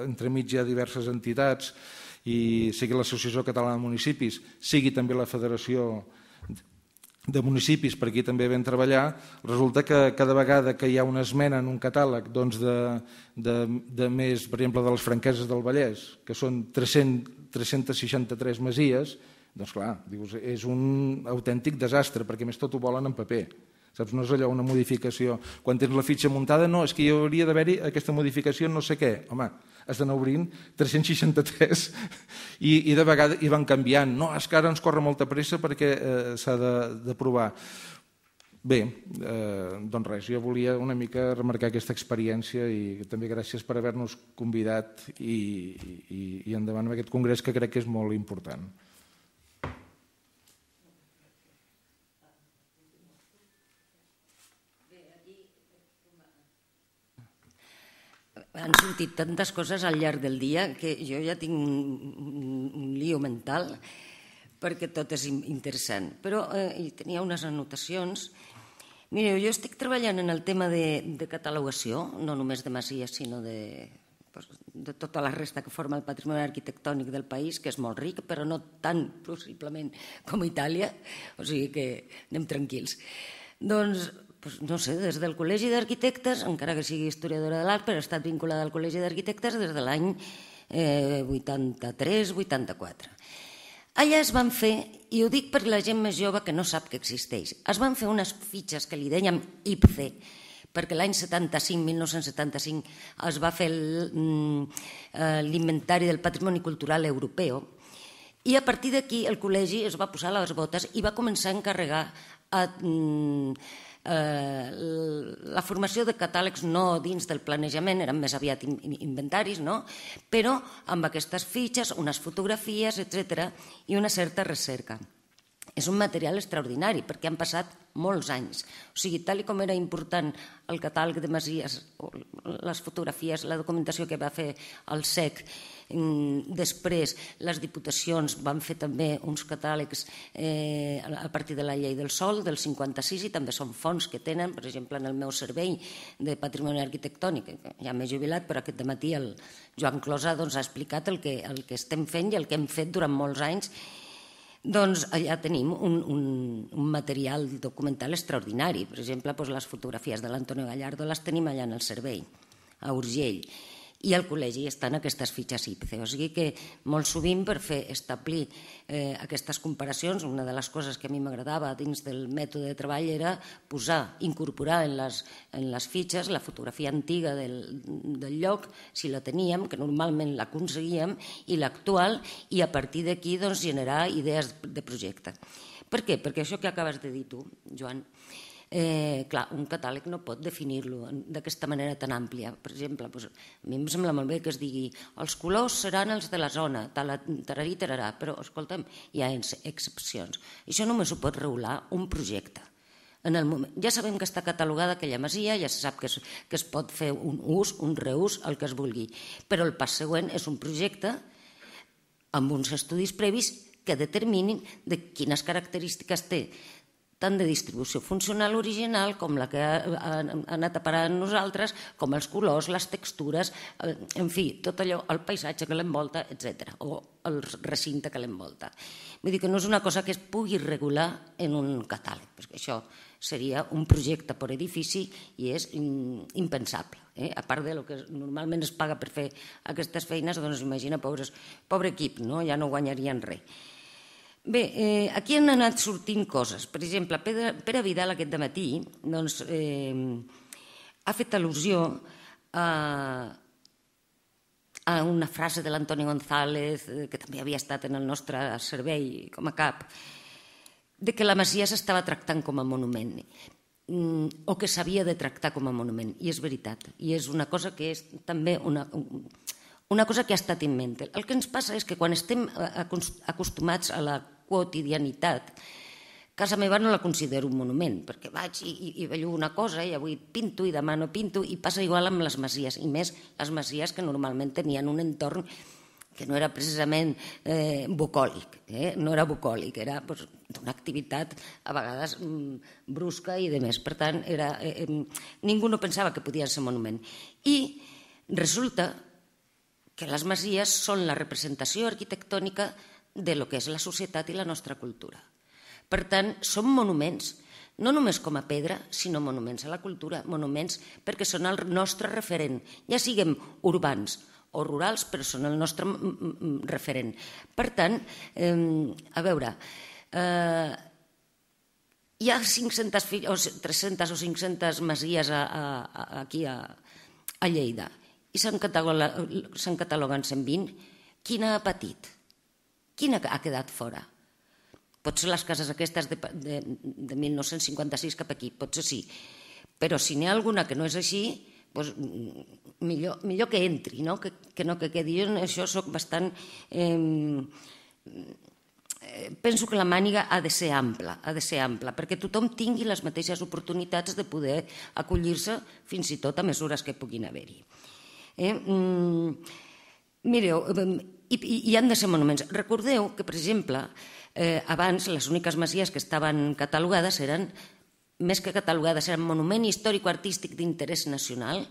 entremig hi ha diverses entitats, i sigui l'Associació Catalana de Municipis, sigui també la Federació de Municipis, per aquí també vam treballar, resulta que cada vegada que hi ha una esmena en un catàleg de més, per exemple, de les Franqueses del Vallès, que són 363 masies, doncs clar, és un autèntic desastre, perquè més tot ho volen en paper. Saps? No és allò una modificació. Quan tens la fitxa muntada, no, és que hi hauria d'haver-hi aquesta modificació no sé què. Home, has d'anar obrint 363 i de vegades hi van canviant. No, és que ara ens corre molta pressa perquè s'ha d'aprovar. Bé, doncs res, jo volia una mica remarcar aquesta experiència i també gràcies per haver-nos convidat i endavant amb aquest congrés que crec que és molt important. Han sortit tantes coses al llarg del dia que jo ja tinc un lío mental perquè tot és interessant. Però tenia unes anotacions. Mireu, jo estic treballant en el tema de catalogació, no només de masies, sinó de tota la resta que forma el patrimoni arquitectònic del país, que és molt ric, però no tan possiblement com Itàlia, o sigui que anem tranquils. Doncs, no sé, des del Col·legi d'Arquitectes, encara que sigui historiadora de l'art, però he estat vinculada al Col·legi d'Arquitectes des de l'any 83-84. Allà es van fer, i ho dic per la gent més jove que no sap que existeix, es van fer unes fitxes que li dèiem IPCE, perquè l'any 1975, es va fer l'Inventari del Patrimoni Cultural Europeu, i a partir d'aquí el col·legi es va posar les botes i va començar a encarregar la formació de catàlegs no dins del planejament, eren més aviat inventaris, no? Però amb aquestes fitxes, unes fotografies, etc., i una certa recerca. És un material extraordinari perquè han passat molts anys. O sigui, tal com era important el catàleg de masies, les fotografies, la documentació que va fer el SEC, després les diputacions van fer també uns catàlegs a partir de la llei del sòl del 56 i també són fons que tenen, per exemple, en el meu servei de patrimoni arquitectònic, ja m'he jubilat, però aquest dematí el Joan Closa ha explicat el que estem fent i el que hem fet durant molts anys. Doncs allà tenim un material documental extraordinari. Per exemple, les fotografies de l'Antonio Gallardo les tenim allà en el servei, a Urgell. I al col·legi estan aquestes fitxes IPCE. O sigui que molt sovint per establir aquestes comparacions, una de les coses que a mi m'agradava dins del mètode de treball era incorporar en les fitxes la fotografia antiga del lloc, si la teníem, que normalment l'aconseguíem, i l'actual, i a partir d'aquí generar idees de projecte. Per què? Perquè això que acabes de dir tu, Joan, clar, un catàleg no pot definir-lo d'aquesta manera tan àmplia. Per exemple, a mi em sembla molt bé que es digui els colors seran els de la zona, tararí, tararà, però, escolta'm, hi ha excepcions. Això només ho pot regular un projecte. Ja sabem que està catalogada aquella masia, ja se sap que es pot fer un ús, un reús, el que es vulgui, però el pas següent és un projecte amb uns estudis previs que determinin de quines característiques té, tant de distribució funcional original com la que ha anat a parar en nosaltres, com els colors, les textures, en fi, tot allò, el paisatge que l'envolta, etc., o el recinte que l'envolta. Vull dir que no és una cosa que es pugui regular en un catàleg, perquè això seria un projecte per edifici i és impensable. A part del que normalment es paga per fer aquestes feines, doncs imagina, pobre equip, ja no guanyarien res. Bé, aquí han anat sortint coses. Per exemple, Pere Vidal aquest dematí ha fet al·lusió a una frase de l'Antoni González, que també havia estat en el nostre servei com a cap, de que la masia s'estava tractant com a monument o que s'havia de tractar com a monument. I és veritat. I és una cosa que és també una cosa que ha estat en ment. El que ens passa és que quan estem acostumats a la quotidianitat, casa meva no la considero un monument, perquè vaig i bello una cosa i avui pinto i demà no pinto, i passa igual amb les masies, i més les masies que normalment tenien un entorn que no era precisament bucòlic, no era bucòlic, era d'una activitat a vegades brusca i de més. Per tant, ningú no pensava que podien ser monument. I resulta que les masies són la representació arquitectònica de lo que és la societat i la nostra cultura. Per tant, són monuments, no només com a pedra, sinó monuments a la cultura, monuments perquè són el nostre referent, ja siguem urbans o rurals, però són el nostre referent. Per tant, a veure, hi ha 300 o 500 masies aquí a Lleida i se'n cataloguen 120. Quina ha patit? Quina ha quedat fora? Potser les cases aquestes de 1956 cap aquí, potser sí. Però si n'hi ha alguna que no és així, millor que entri, que no que quedi. Jo en això soc bastant... Penso que la màniga ha de ser ampla, perquè tothom tingui les mateixes oportunitats de poder acollir-se fins i tot a mesures que puguin haver-hi. Mireu, i han de ser monuments. Recordeu que, per exemple, abans les úniques masies que estaven catalogades eren, més que catalogades, eren monument històrico-artístic d'interès nacional,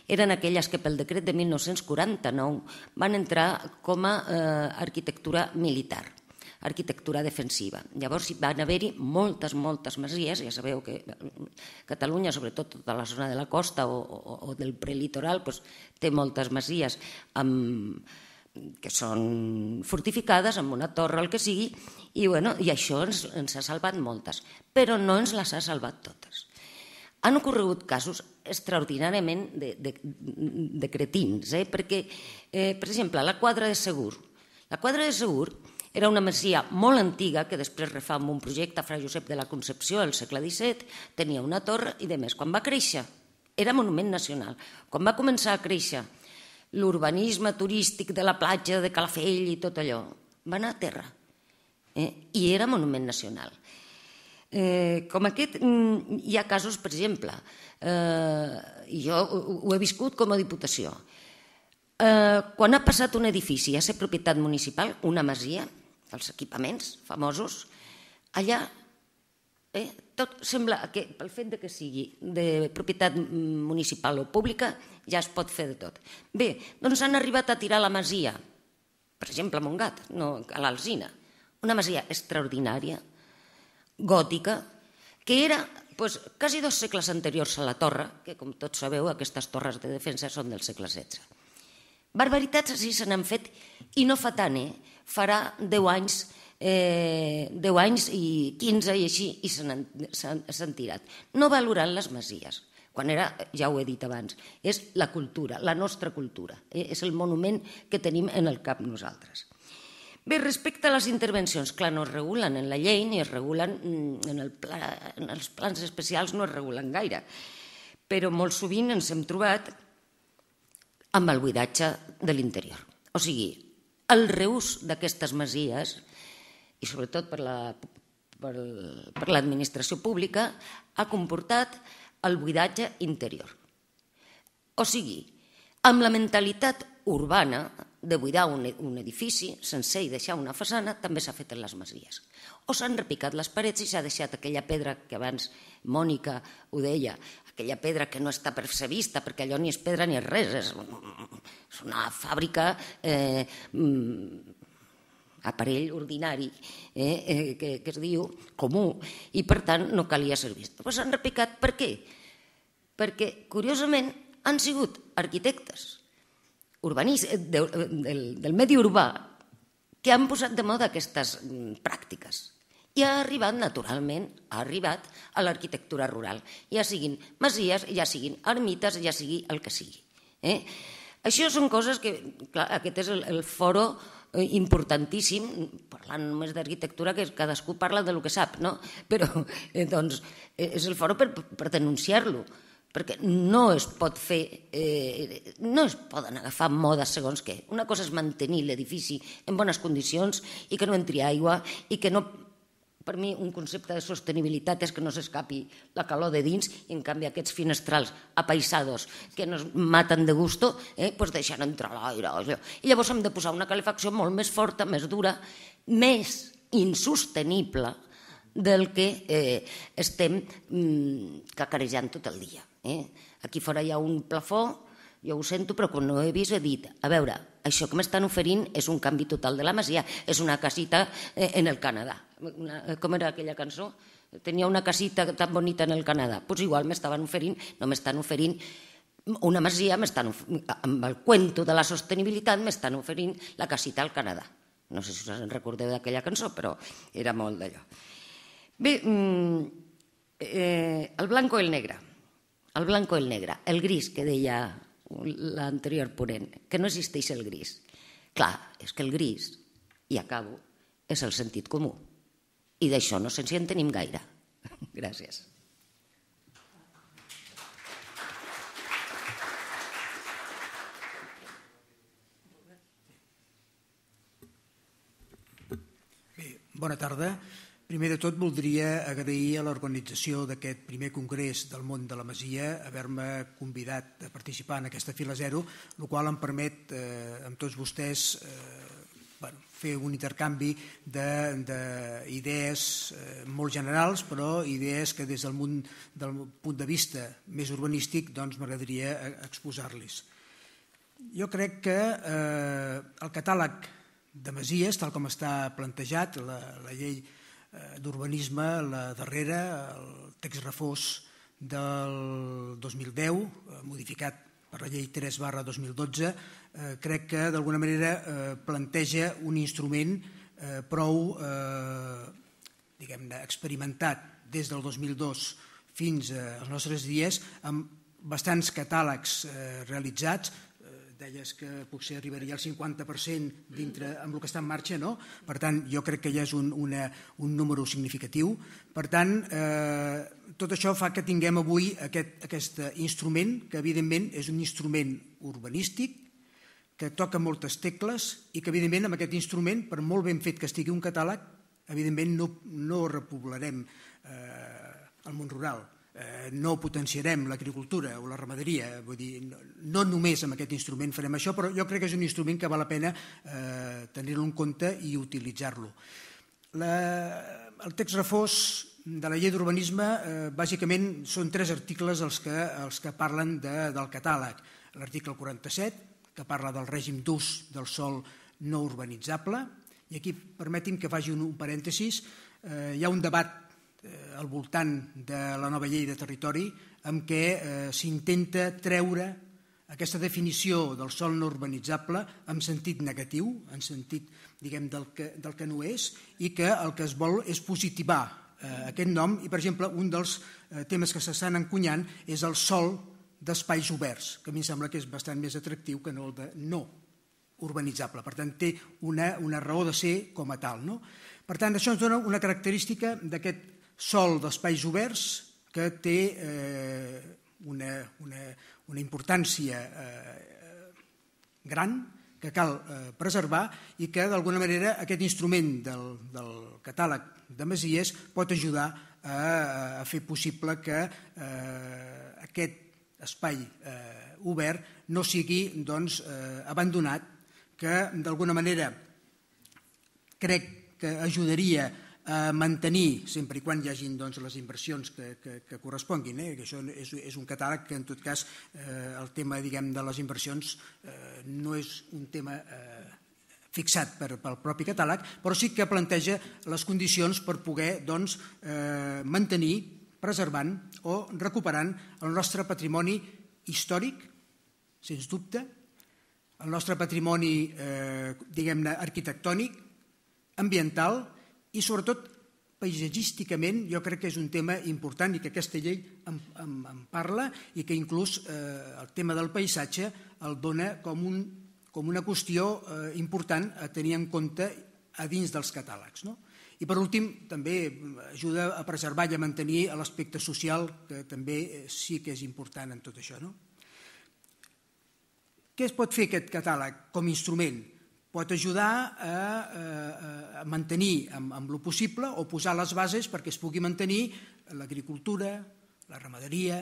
eren aquelles que pel decret de 1949 van entrar com a arquitectura militar, arquitectura defensiva. Llavors van haver-hi moltes masies, ja sabeu que Catalunya, sobretot tota la zona de la costa o del prelitoral, té moltes masies amb que són fortificades amb una torre, el que sigui, i això ens ha salvat moltes, però no ens les ha salvat totes. Han ocorregut casos extraordinàriament de cretins, perquè, per exemple, la Quadra de Segur. La Quadra de Segur era una masia molt antiga que després refà amb un projecte Fra Josep de la Concepció al segle XVII, tenia una torre i demés. Quan va créixer, era monument nacional. Quan va començar a créixer l'urbanisme turístic de la platja de Calafell i tot allò, va anar a terra i era monument nacional. Com aquest, hi ha casos, per exemple, jo ho he viscut com a Diputació. Quan ha passat un edifici a ser propietat municipal, una masia, els equipaments famosos, allà tot sembla que pel fet que sigui de propietat municipal o pública ja es pot fer de tot. Bé, doncs han arribat a tirar la masia, per exemple a Montgat, a l'Alzina, una masia extraordinària, gòtica, que era quasi 2 segles anteriors a la torre, que com tots sabeu aquestes torres de defensa són del segle XVI. Barbaritats així se n'han fet i no fa tant, farà 10 anys i 15 i així i s'han tirat. No valorant les masies, quan era, ja ho he dit abans, és la cultura, la nostra cultura, és el monument que tenim en el cap nosaltres. Bé, respecte a les intervencions, clar, no es regulen en la llei ni es regulen en els plans especials, no es regulen gaire, però molt sovint ens hem trobat amb el buidatge de l'interior. O sigui, el reús d'aquestes masies, i sobretot per l'administració pública, ha comportat el buidatge interior. O sigui, amb la mentalitat urbana de buidar un edifici sencer i deixar una façana, també s'ha fet en les masies. O s'han repicat les parets i s'ha deixat aquella pedra que abans Mònica ho deia, aquella pedra que no està per ser vista, perquè allò ni és pedra ni és res, és una fàbrica, aparell ordinari, que es diu comú, i per tant no calia ser vist. Però s'han repicat per què? Perquè, curiosament, han sigut arquitectes del medi urbà que han posat de moda aquestes pràctiques i ha arribat naturalment a l'arquitectura rural, ja siguin masies, ja siguin ermites, ja sigui el que sigui. Això són coses que, clar, aquest és el foro importantíssim, parlant només d'arquitectura, que cadascú parla del que sap, no? Però doncs és el foro per denunciar-lo, perquè no es pot fer, no es poden agafar modes segons què. Una cosa és mantenir l'edifici en bones condicions i que no entri aigua i que no, per mi un concepte de sostenibilitat és que no s'escapi la calor de dins i en canvi aquests finestrals apaïsados que nos maten de gusto, doncs deixen entrar l'aire. I llavors hem de posar una calefacció molt més forta, més dura, més insostenible del que estem cacarejant tot el dia. Aquí fora hi ha un plafó, jo ho sento, però quan no ho he vist he dit, a veure, això que m'estan oferint és un canvi total de la masia, és una casita en el Canadà. Com era aquella cançó? Tenia una casita tan bonita en el Canadà. Doncs igual m'estaven oferint, no m'estan oferint una masia, amb el cuento de la sostenibilitat m'estan oferint la casita al Canadà. No sé si us en recordeu d'aquella cançó, però era molt d'allò. Bé, el blanco i el negre. El blanco i el negre, el gris que deia l'anterior ponent, que no existeix el gris. Clar, és que el gris, i acabo, és el sentit comú. I d'això no se'ns en tenim gaire. Gràcies. Bé, bona tarda. Primer de tot voldria agrair a l'organització d'aquest primer congrés del món de la Masia haver-me convidat a participar en aquesta fila zero, el qual em permet amb tots vostès fer un intercanvi d'idees molt generals, però idees que des del punt de vista més urbanístic m'agradaria exposar-les. Jo crec que el catàleg de masies, tal com està plantejat, la llei d'urbanisme, la darrera, el text refós del 2010, modificat per la llei 3/2012, crec que d'alguna manera planteja un instrument prou experimentat des del 2002 fins als nostres dies, amb bastants catàlegs realitzats. Deies que potser arribaria al 50% dintre amb el que està en marxa, no? Per tant, jo crec que ja és un número significatiu. Per tant, tot això fa que tinguem avui aquest instrument, que evidentment és un instrument urbanístic, que toca moltes tecles i que evidentment amb aquest instrument, per molt ben fet que estigui un catàleg, evidentment no repoblarem el món rural, no potenciarem l'agricultura o la ramaderia, vull dir, no només amb aquest instrument farem això, però jo crec que és un instrument que val la pena tenir-lo en compte i utilitzar-lo. El text refós de la llei d'urbanisme bàsicament són 3 articles els que parlen del catàleg. L'article 47, que parla del règim d'ús del sòl no urbanitzable, i aquí permeti'm que faci un parèntesis. Hi ha un debat al voltant de la nova llei de territori en què s'intenta treure aquesta definició del sòl no urbanitzable en sentit negatiu, en sentit del que no és, i que el que es vol és positivar aquest nom. I, per exemple, un dels temes que s'estan encunyant és el sòl d'espais oberts, que a mi em sembla que és bastant més atractiu que no el de no urbanitzable. Per tant, té una raó de ser com a tal, no? Per tant, això ens dona una característica d'aquest sòl d'espais oberts que té una importància gran que cal preservar i que d'alguna manera aquest instrument del catàleg de masies pot ajudar a fer possible que aquest espai obert no sigui abandonat, que d'alguna manera crec que ajudaria a mantenir, sempre i quan hi hagin les inversions que corresponguin, que això és un catàleg que en tot cas el tema de les inversions no és un tema fixat pel propi catàleg, però sí que planteja les condicions per poder mantenir, preservant o recuperant el nostre patrimoni històric, sens dubte, el nostre patrimoni arquitectònic, ambiental i sobretot paisatgísticament. Jo crec que és un tema important i que aquesta llei en parla i que inclús el tema del paisatge el dona com una qüestió important a tenir en compte a dins dels catàlegs. I per últim també ajuda a preservar i a mantenir l'aspecte social, que també sí que és important en tot això. Què es pot fer aquest catàleg com a instrument? Pot ajudar a mantenir amb el possible o posar les bases perquè es pugui mantenir l'agricultura, la ramaderia,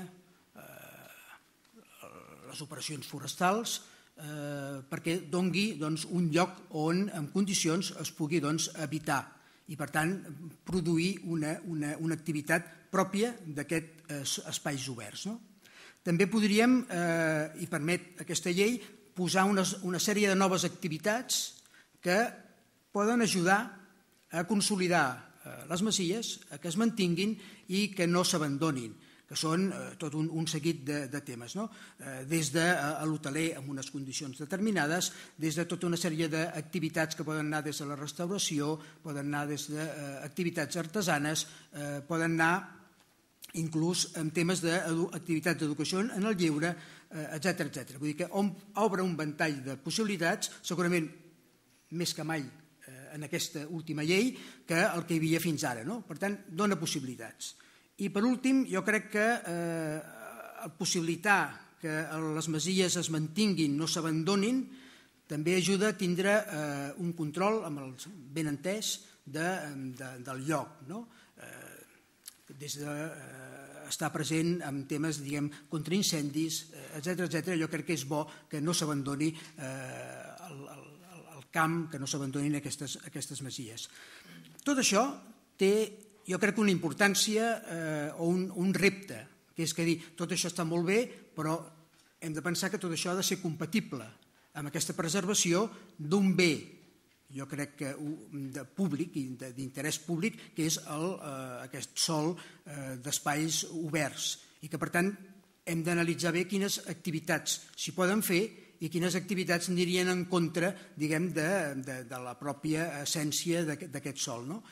les operacions forestals, perquè doni un lloc on en condicions es pugui habitar i per tant produir una activitat pròpia d'aquests espais oberts. També podríem, i permet aquesta llei, posar una sèrie de noves activitats que poden ajudar a consolidar les masies, a que es mantinguin i que no s'abandonin, que són tot un seguit de temes, des de l'hoteler amb unes condicions determinades, des de tota una sèrie d'activitats que poden anar des de la restauració, poden anar des d'activitats artesanes, poden anar inclús en temes d'activitats d'educació en el lleure, etc. Vull dir que obre un ventall de possibilitats, segurament més que mai en aquesta última llei, que el que hi havia fins ara. Per tant, dona possibilitats. I per últim, jo crec que possibilitar que les masies es mantinguin, no s'abandonin, també ajuda a tindre un control, amb el ben entès, del lloc, des d'estar present en temes contra incendis, etc. Jo crec que és bo que no s'abandoni el camp, que no s'abandonin aquestes masies. Tot això té, jo crec, una importància o un repte, que és que dir, tot això està molt bé, però hem de pensar que tot això ha de ser compatible amb aquesta preservació d'un bé, jo crec que públic, d'interès públic, que és aquest sòl d'espais oberts i que per tant hem d'analitzar bé quines activitats s'hi poden fer i quines activitats anirien en contra, diguem, de la pròpia essència d'aquest sòl, no?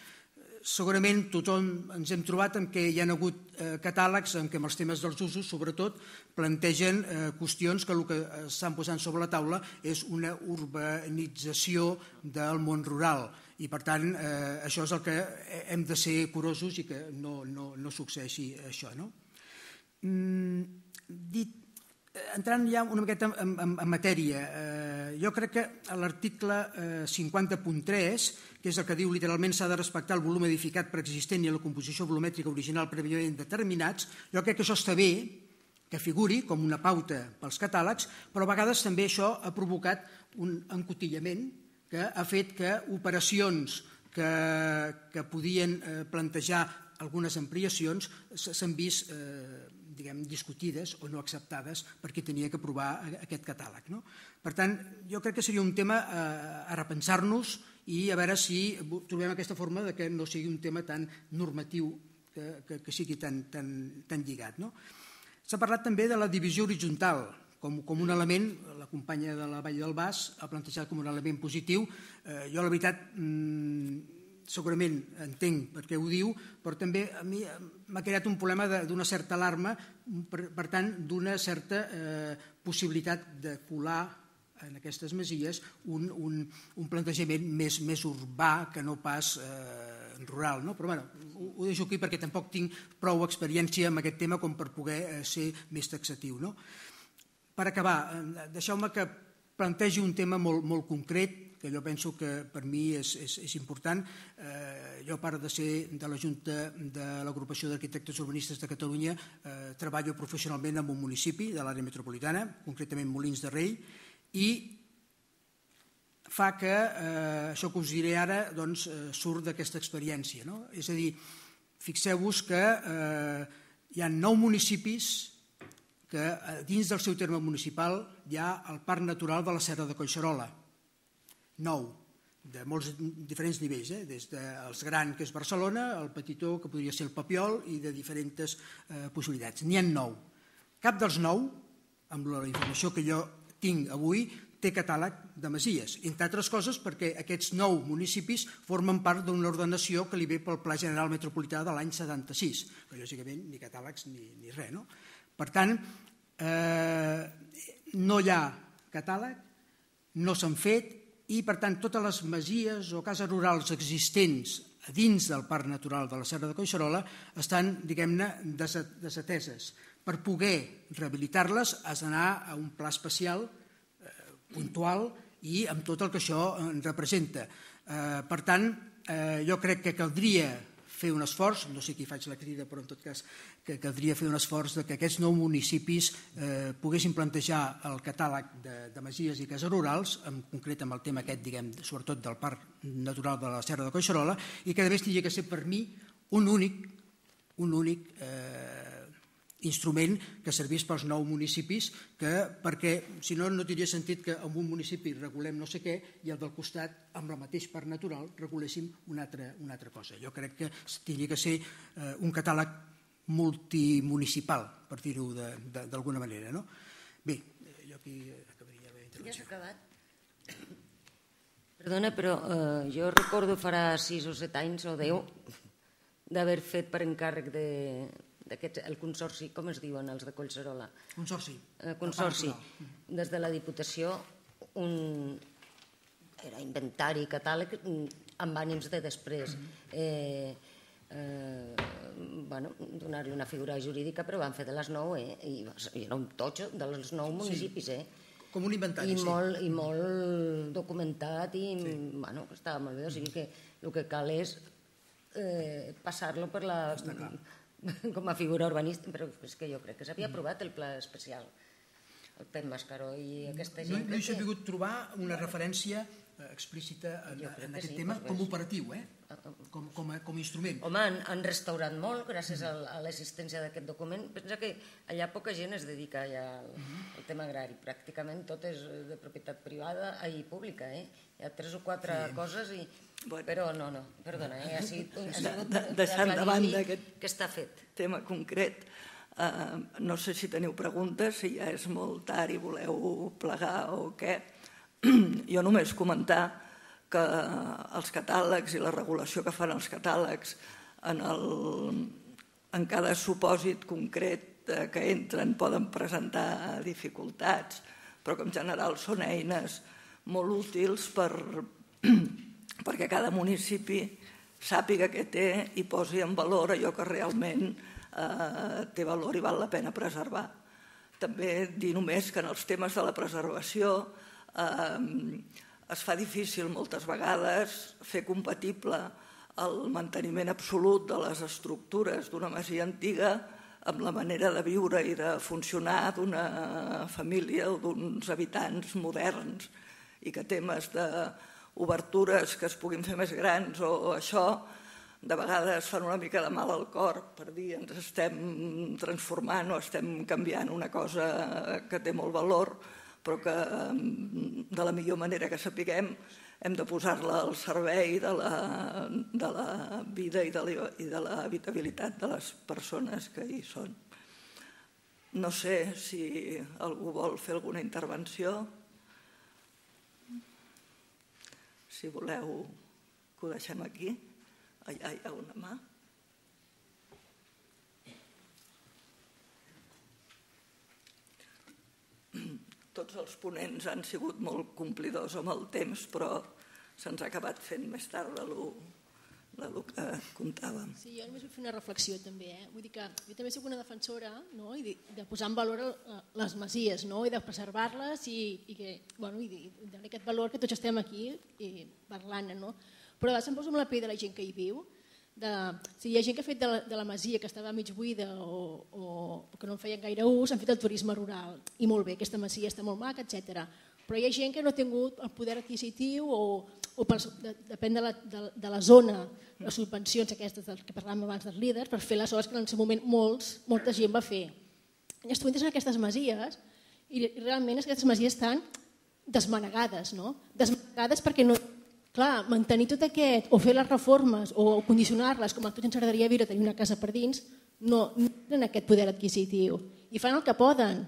Segurament tothom ens hem trobat en què hi ha hagut catàlegs en què amb els temes dels usos, sobretot, plantegen qüestions que el que estan posant sobre la taula és una urbanització del món rural i, per tant, això és el que hem de ser curosos i que no succeeixi això, no? Entrant ja una miqueta en matèria, jo crec que a l'article 50.3, que és el que diu literalment s'ha de respectar el volum edificat preexistent i la composició volumètrica original prèviament determinats, jo crec que això està bé, que figuri com una pauta pels catàlegs, però a vegades també això ha provocat un encotillament que ha fet que operacions que podien plantejar algunes ampliacions s'han vist discutides o no acceptades perquè tenia que aprovar aquest catàleg. Per tant, jo crec que seria un tema a repensar-nos i a veure si trobem aquesta forma de que no sigui un tema tan normatiu, que sigui tan lligat. S'ha parlat també de la divisió horitzontal com un element, la companya de la Vall del Bas ha plantejat com un element positiu. Jo, la veritat, segurament entenc per què ho diu, però també a mi m'ha creat un problema d'una certa alarma, per tant, d'una certa possibilitat de colar en aquestes masies un plantejament més urbà que no pas rural. Però bé, ho deixo aquí perquè tampoc tinc prou experiència en aquest tema com per poder ser més taxatiu. Per acabar, deixeu-me que plantegi un tema molt concret que jo penso que per mi és important. Jo, a part de ser de la Junta de l'Agrupació d'Arquitectes Urbanistes de Catalunya, treballo professionalment en un municipi de l'àrea metropolitana, concretament Molins de Rei, i fa que això que us diré ara surt d'aquesta experiència. És a dir, fixeu-vos que hi ha 9 municipis que dins del seu terme municipal hi ha el Parc Natural de la Serra de Collserola. 9, de molts diferents nivells, des dels grans, que és Barcelona, el petitó, que podria ser el Papiol, i de diferents possibilitats. N'hi ha 9. Cap dels 9, amb la informació que jo tinc avui, té catàleg de masies, entre altres coses perquè aquests 9 municipis formen part d'una ordenació que li ve pel Pla General Metropolità de l'any 76, que lògicament ni catàlegs ni res. Per tant, no hi ha catàleg, no s'han fet, i per tant totes les masies o cases rurals existents dins del Parc Natural de la Serra de Collserola estan, diguem-ne, desateses. Per poder rehabilitar-les has d'anar a un pla especial puntual i amb tot el que això representa. Per tant, jo crec que caldria fer un esforç, no sé qui faig la crida, però en tot cas que caldria fer un esforç que aquests 9 municipis poguessin plantejar el catàleg de masies i cases rurals, en concret amb el tema aquest, diguem, sobretot del Parc Natural de la Serra de Collserola, i que a més hauria que ser per mi un únic instrument que servís pels 9 municipis, perquè si no tindria sentit que en un municipi regulem no sé què i al del costat, amb el mateix parc natural, reguléssim una altra cosa. Jo crec que hauria que ser un catàleg multimunicipal, per dir-ho d'alguna manera. Bé, jo aquí acabaria la meva intervenció. Ja s'ha acabat? Perdona, però jo recordo farà 6 o 7 anys o 10 d'haver fet per encàrrec el consorci, com es diuen els de Collserola? Consorci. Consorci. Des de la Diputació, era inventari, catàleg, amb ànims de després. Donar-li una figura jurídica, però van fer de les 9, i era un totxo dels 9 municipis. Com un inventari, sí. I molt documentat, i estava molt bé. O sigui que el que cal és passar-lo per la... com a figura urbanística, però és que jo crec que s'havia aprovat el pla especial, el Pep Mascaró i aquesta gent. No he sabut trobar una referència explícita en aquest tema com operatiu, com a instrument. Home, han restaurat molt gràcies a l'existència d'aquest document. Pensa que allà poca gent es dedica al tema agrari, pràcticament tot és de propietat privada i pública. Hi ha 3 o 4 coses i... Però no, perdona, ha sigut deixant de banda aquest que està fet. Tema concret, No sé si teniu preguntes, si ja és molt tard i voleu plegar o què. Jo només comentar que els catàlegs i la regulació que fan els catàlegs en cada supòsit concret que entren poden presentar dificultats, però que en general són eines molt útils perquè cada municipi sàpiga què té i posi en valor allò que realment té valor i val la pena preservar. També dir només que en els temes de la preservació es fa difícil moltes vegades fer compatible el manteniment absolut de les estructures d'una masia antiga amb la manera de viure i de funcionar d'una família o d'uns habitants moderns, i que temes d'obertures que es puguin fer més grans o això, de vegades fan una mica de mal al cor per dir ens estem transformant o estem canviant una cosa que té molt valor, però que de la millor manera que sapiguem hem de posar-la al servei de la vida i de l'habitabilitat de les persones que hi són. No sé si algú vol fer alguna intervenció. Si voleu que ho deixem aquí. Allà hi ha una mà. Tots els ponents han sigut molt complidors amb el temps, però se'ns ha acabat fent més tard del que comptàvem. Sí, jo només vull fer una reflexió també. Vull dir que jo també soc una defensora de posar en valor les masies i de preservar-les i donar aquest valor que tots estem aquí parlant. Però a vegades em poso amb la pell de la gent que hi viu. Hi ha gent que ha fet de la masia que estava mig buida o que no en feien gaire ús, han fet el turisme rural. I molt bé, aquesta masia està molt maca, etc. Però hi ha gent que no ha tingut el poder adquisitiu o depèn de la zona, les subvencions aquestes que parlàvem abans dels líders, per fer les obres que en el seu moment molta gent va fer. Llavors tu entres en aquestes masies i realment aquestes masies estan desmanegades, desmanegades perquè no... Clar, mantenir tot aquest, o fer les reformes, o condicionar-les, com a tots ens agradaria viure, tenir una casa per dins, no tenen aquest poder adquisitiu. I fan el que poden.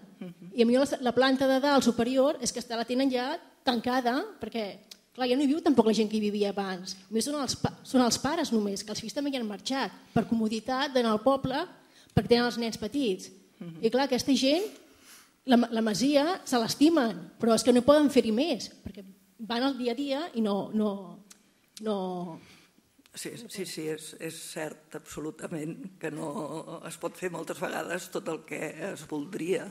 I a mi la planta de dalt superior és que la tenen ja tancada, perquè clar, ja no hi viu tampoc la gent que hi vivia abans. A mi són els pares només, que els fills també hi han marxat, per comoditat d'anar al poble, perquè tenen els nens petits. I clar, aquesta gent, la masia, se l'estimen, però és que no poden fer-hi més, perquè van al dia a dia i no... Sí, és cert absolutament que no es pot fer moltes vegades tot el que es voldria.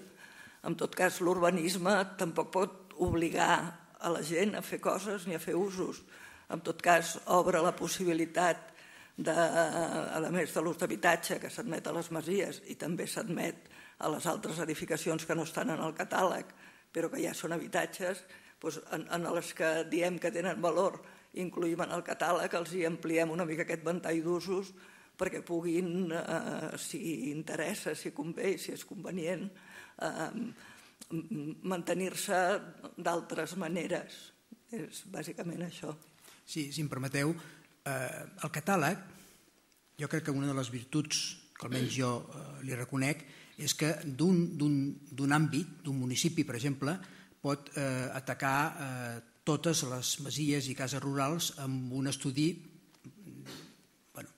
En tot cas, l'urbanisme tampoc pot obligar a la gent a fer coses ni a fer usos. En tot cas, obre la possibilitat, a més de l'ús d'habitatge que s'admet a les masies i també s'admet a les altres edificacions que no estan en el catàleg, però que ja són habitatges, en les que diem que tenen valor incluïm en el catàleg, els hi ampliem una mica aquest ventall d'usos perquè puguin, si interessa, si convé i si és convenient, mantenir-se d'altres maneres. És bàsicament això. Sí, si em permeteu, el catàleg, jo crec que una de les virtuts que almenys jo li reconec és que d'un àmbit, d'un municipi, per exemple, pot atacar totes les masies i cases rurals amb un estudi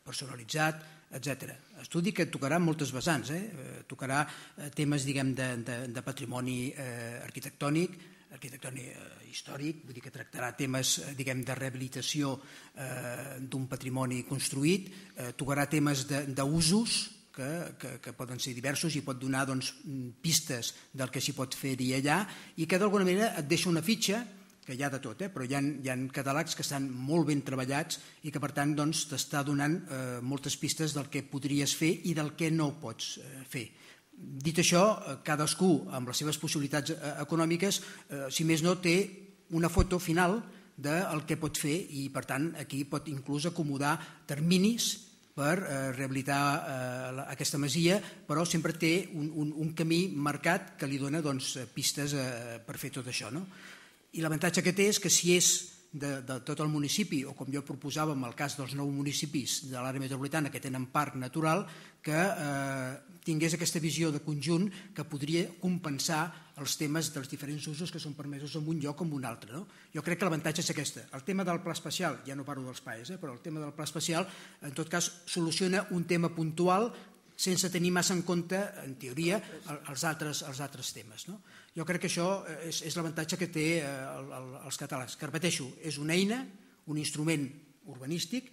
personalitzat, etc. Estudi que tocarà moltes vessants, tocarà temes de patrimoni arquitectònic, històric, vull dir que tractarà temes de rehabilitació d'un patrimoni construït, tocarà temes d'usos que poden ser diversos i pot donar pistes del que s'hi pot fer-hi allà i que d'alguna manera et deixa una fitxa, que hi ha de tot, però hi ha catàlegs que estan molt ben treballats i que per tant t'està donant moltes pistes del que podries fer i del que no pots fer. Dit això, cadascú amb les seves possibilitats econòmiques, si més no, té una foto final del que pot fer i per tant aquí pot inclús acomodar terminis per rehabilitar aquesta masia, però sempre té un camí marcat que li dona pistes per fer tot això. I l'avantatge que té és que si és de tot el municipi, o com jo proposava en el cas dels 9 municipis de l'àrea metropolitana que tenen parc natural, que tingués aquesta visió de conjunt que podria compensar els temes dels diferents usos que són permesos en un lloc o en un altre. Jo crec que l'avantatge és aquesta. El tema del pla especial, ja no parlo dels PAEs, però el tema del pla especial, en tot cas, soluciona un tema puntual sense tenir massa en compte, en teoria, els altres temes. Jo crec que això és l'avantatge que té els catàlegs, que repeteixo, és una eina, un instrument urbanístic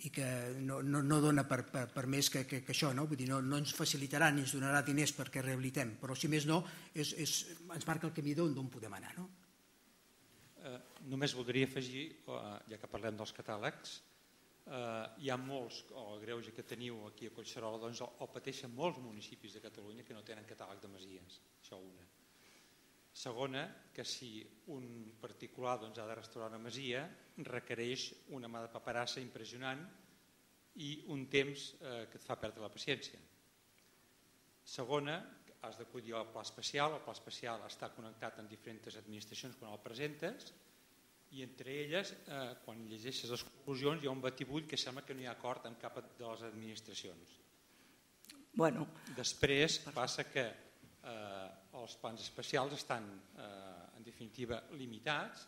i que no dona per més que això, vull dir, no ens facilitarà ni ens donarà diners perquè rehabilitem, però si més no ens marca el camí d'on podem anar. Només voldria afegir, ja que parlem dels catàlegs, hi ha molts, o el greuge que teniu aquí a Collserola, doncs el pateixen molts municipis de Catalunya que no tenen catàleg de masies, això una. Segona, que si un particular ha de restaurar una masia, requereix una mà de paperassa impressionant i un temps que et fa perdre la paciència. Segona, has d'acudir al pla especial, el pla especial està connectat amb diferents administracions quan el presentes i entre elles, quan llegeixes les conclusions, hi ha un batibull que sembla que no hi ha acord amb cap de les administracions. Després passa que els plans especials estan, en definitiva, limitats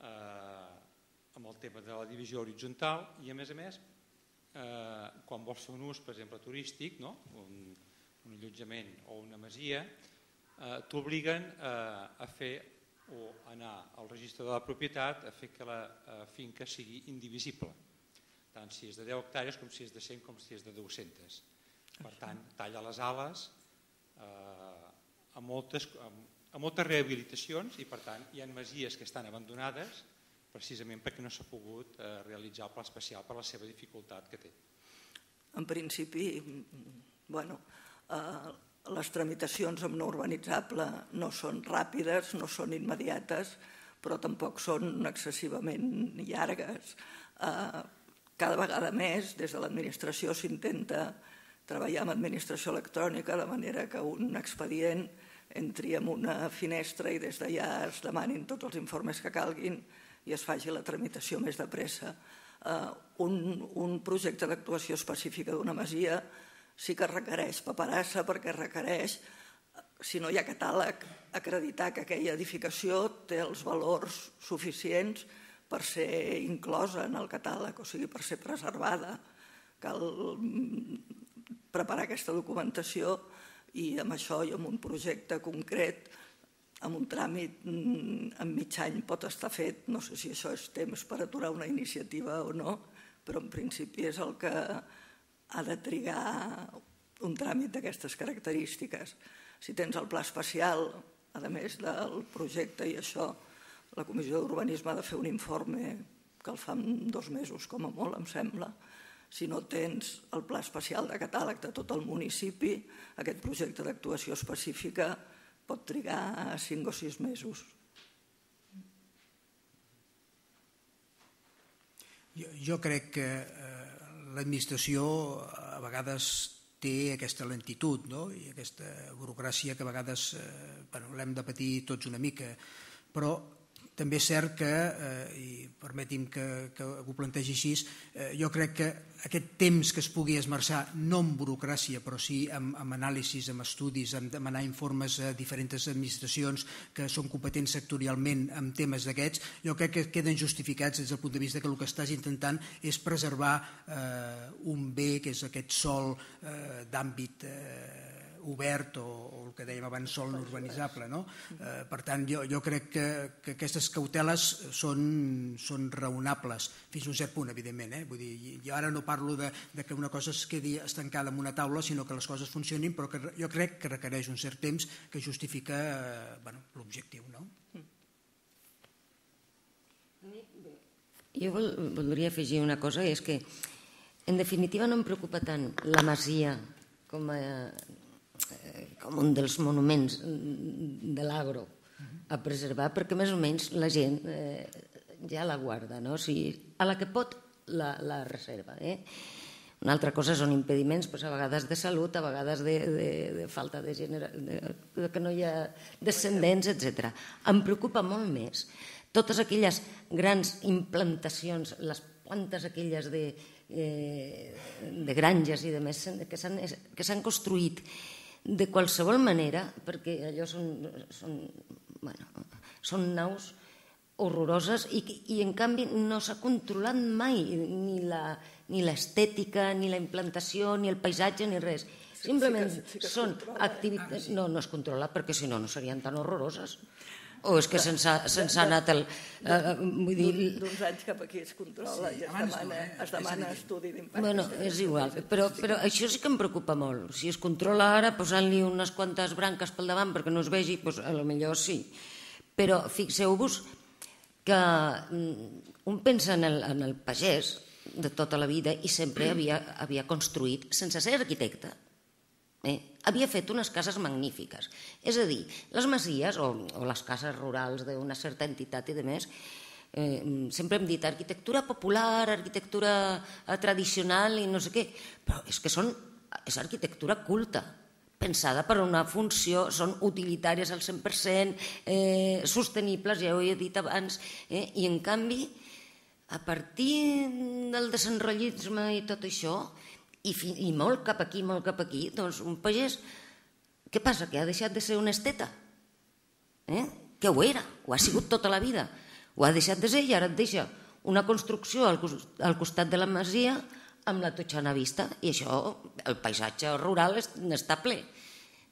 amb el tema de la divisió horitzontal i, a més, quan vols fer un ús, per exemple, turístic, un allotjament o una masia, t'obliguen a fer o anar al registre de la propietat a fer que la finca sigui indivisible, tant si és de 10 hectàrees com si és de 100 com si és de 200. Per tant, talla les ales a moltes rehabilitacions i per tant hi ha masies que estan abandonades precisament perquè no s'ha pogut realitzar el pla especial per la seva dificultat que té. En principi, les tramitacions amb no urbanitzable no són ràpides, no són immediates, però tampoc són excessivament llargues. Cada vegada més, des de l'administració s'intenta treballar amb administració electrònica de manera que un expedient entri en una finestra i des d'allà es demanin tots els informes que calguin i es faci la tramitació més de pressa. Un projecte d'actuació específica d'una masia sí que requereix paperassa perquè requereix, si no hi ha catàleg, acreditar que aquella edificació té els valors suficients per ser inclosa en el catàleg, o sigui, per ser preservada. Cal preparar aquesta documentació i amb això i amb un projecte concret, amb un tràmit en mig any pot estar fet. No sé si això és temps per aturar una iniciativa o no, però en principi és el que ha de trigar un tràmit d'aquestes característiques. Si tens el pla especial, a més del projecte i això, la Comissió d'Urbanisme ha de fer un informe que el fa en 2 mesos, com a molt, em sembla. Si no tens el pla especial de catàleg de tot el municipi, aquest projecte d'actuació específica pot trigar 5 o 6 mesos. Jo crec que l'administració a vegades té aquesta lentitud i aquesta burocràcia que a vegades l'hem de patir tots una mica, però també és cert que, i permeti'm que ho plantegi així, jo crec que aquest temps que es pugui esmerçar, no en burocràcia, però sí amb anàlisis, amb estudis, amb demanar informes a diferents administracions que són competents sectorialment en temes d'aquests, jo crec que queden justificats des del punt de vista que el que estàs intentant és preservar un bé que és aquest sòl d'àmbit obert o el que dèiem abans, sòl no urbanitzable. Per tant, jo crec que aquestes cauteles són raonables, fins a un cert punt, evidentment. Vull dir, jo ara no parlo que una cosa es quedi estancada en una taula, sinó que les coses funcionin, però que jo crec que requereix un cert temps que justifica l'objectiu. Jo voldria afegir una cosa, i és que, en definitiva, no em preocupa tant la masia com un dels monuments de l'agro a preservar, perquè més o menys la gent ja la guarda, a la que pot la reserva. Una altra cosa són impediments, a vegades de salut, a vegades de falta de que no hi ha descendents, etc. Em preocupa molt més totes aquelles grans implantacions, les plantes aquelles de granges i de més que s'han construït de qualsevol manera, perquè allò són naus horroroses i en canvi no s'ha controlat mai ni l'estètica, ni la implantació, ni el paisatge, ni res. Simplement són activitats... No es controla perquè si no serien tan horroroses. O és que se'ns ha anat el... D'uns anys cap aquí es controla i es demana estudi d'impacte. Bueno, és igual, però això sí que em preocupa molt. Si es controla ara posant-li unes quantes branques pel davant perquè no es vegi, doncs potser sí. Però fixeu-vos que un pensa en el pagès de tota la vida i sempre havia construït sense ser arquitecte. Havia fet unes cases magnífiques. És a dir, les masies o les cases rurals d'una certa entitat i de més, sempre hem dit arquitectura popular, arquitectura tradicional i no sé què, però és que és arquitectura culta, pensada per una funció, són utilitàries al 100%, sostenibles, ja ho he dit abans, i en canvi, a partir del desenrotllisme i tot això, i molt cap aquí, doncs un pagès, què passa? Que ha deixat de ser un esteta? Que ho era, ho ha sigut tota la vida. Ho ha deixat de ser i ara et deixa una construcció al costat de la masia amb la totxana vista i això, el paisatge rural està ple.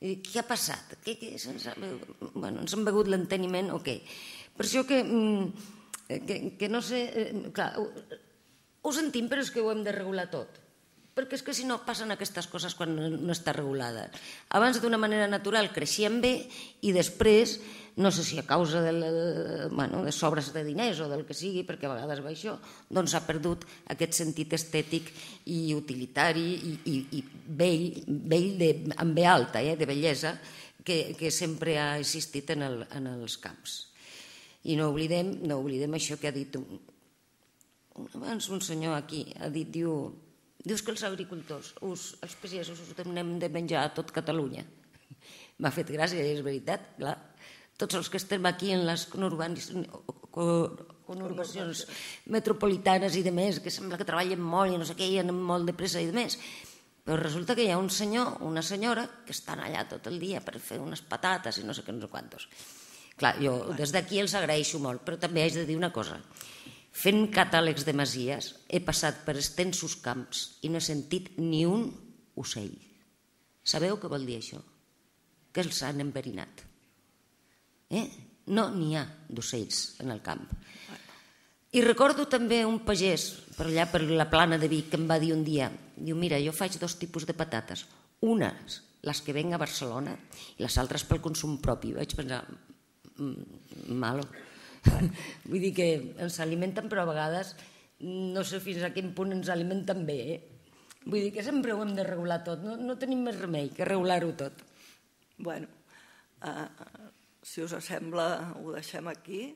Què ha passat? Ens han begut l'enteniment o què? Per això que no sé... Clar, ho sentim, però és que ho hem de regular tot. Perquè és que si no passen aquestes coses quan no està regulada. Abans d'una manera natural creixien bé i després, no sé si a causa de sobres de diners o del que sigui, perquè a vegades va això, doncs ha perdut aquest sentit estètic i utilitari i bell amb B alta, de bellesa, que sempre ha existit en els camps. I no oblidem això que ha dit abans un senyor aquí, ha dit, dius que els agricultors, els pagesos, us donem de menjar a tot Catalunya. M'ha fet gràcia, és veritat, clar. Tots els que estem aquí en les conurbacions metropolitanes i de més, que sembla que treballen molt i no sé què, i anem molt de pressa i de més. Però resulta que hi ha un senyor, una senyora, que estan allà tot el dia per fer unes patates i no sé què, no sé quantos. Clar, jo des d'aquí els agraeixo molt, però també haig de dir una cosa. Fent catàlegs de masies he passat per extensos camps i no he sentit ni un ocell. Sabeu què vol dir això? Que els han enverinat. No n'hi ha d'ocells en el camp. I recordo també un pagès per allà per la Plana de Vic que em va dir un dia, diu, mira, jo faig 2 tipus de patates, unes les que venc a Barcelona i les altres pel consum propi. Vaig pensar, malo. Vull dir que ens alimenten, però a vegades no sé fins a quin punt ens alimenten bé. Vull dir que sempre ho hem de regular tot, no tenim més remei que regular-ho tot. Bueno, si us sembla, ho deixem aquí.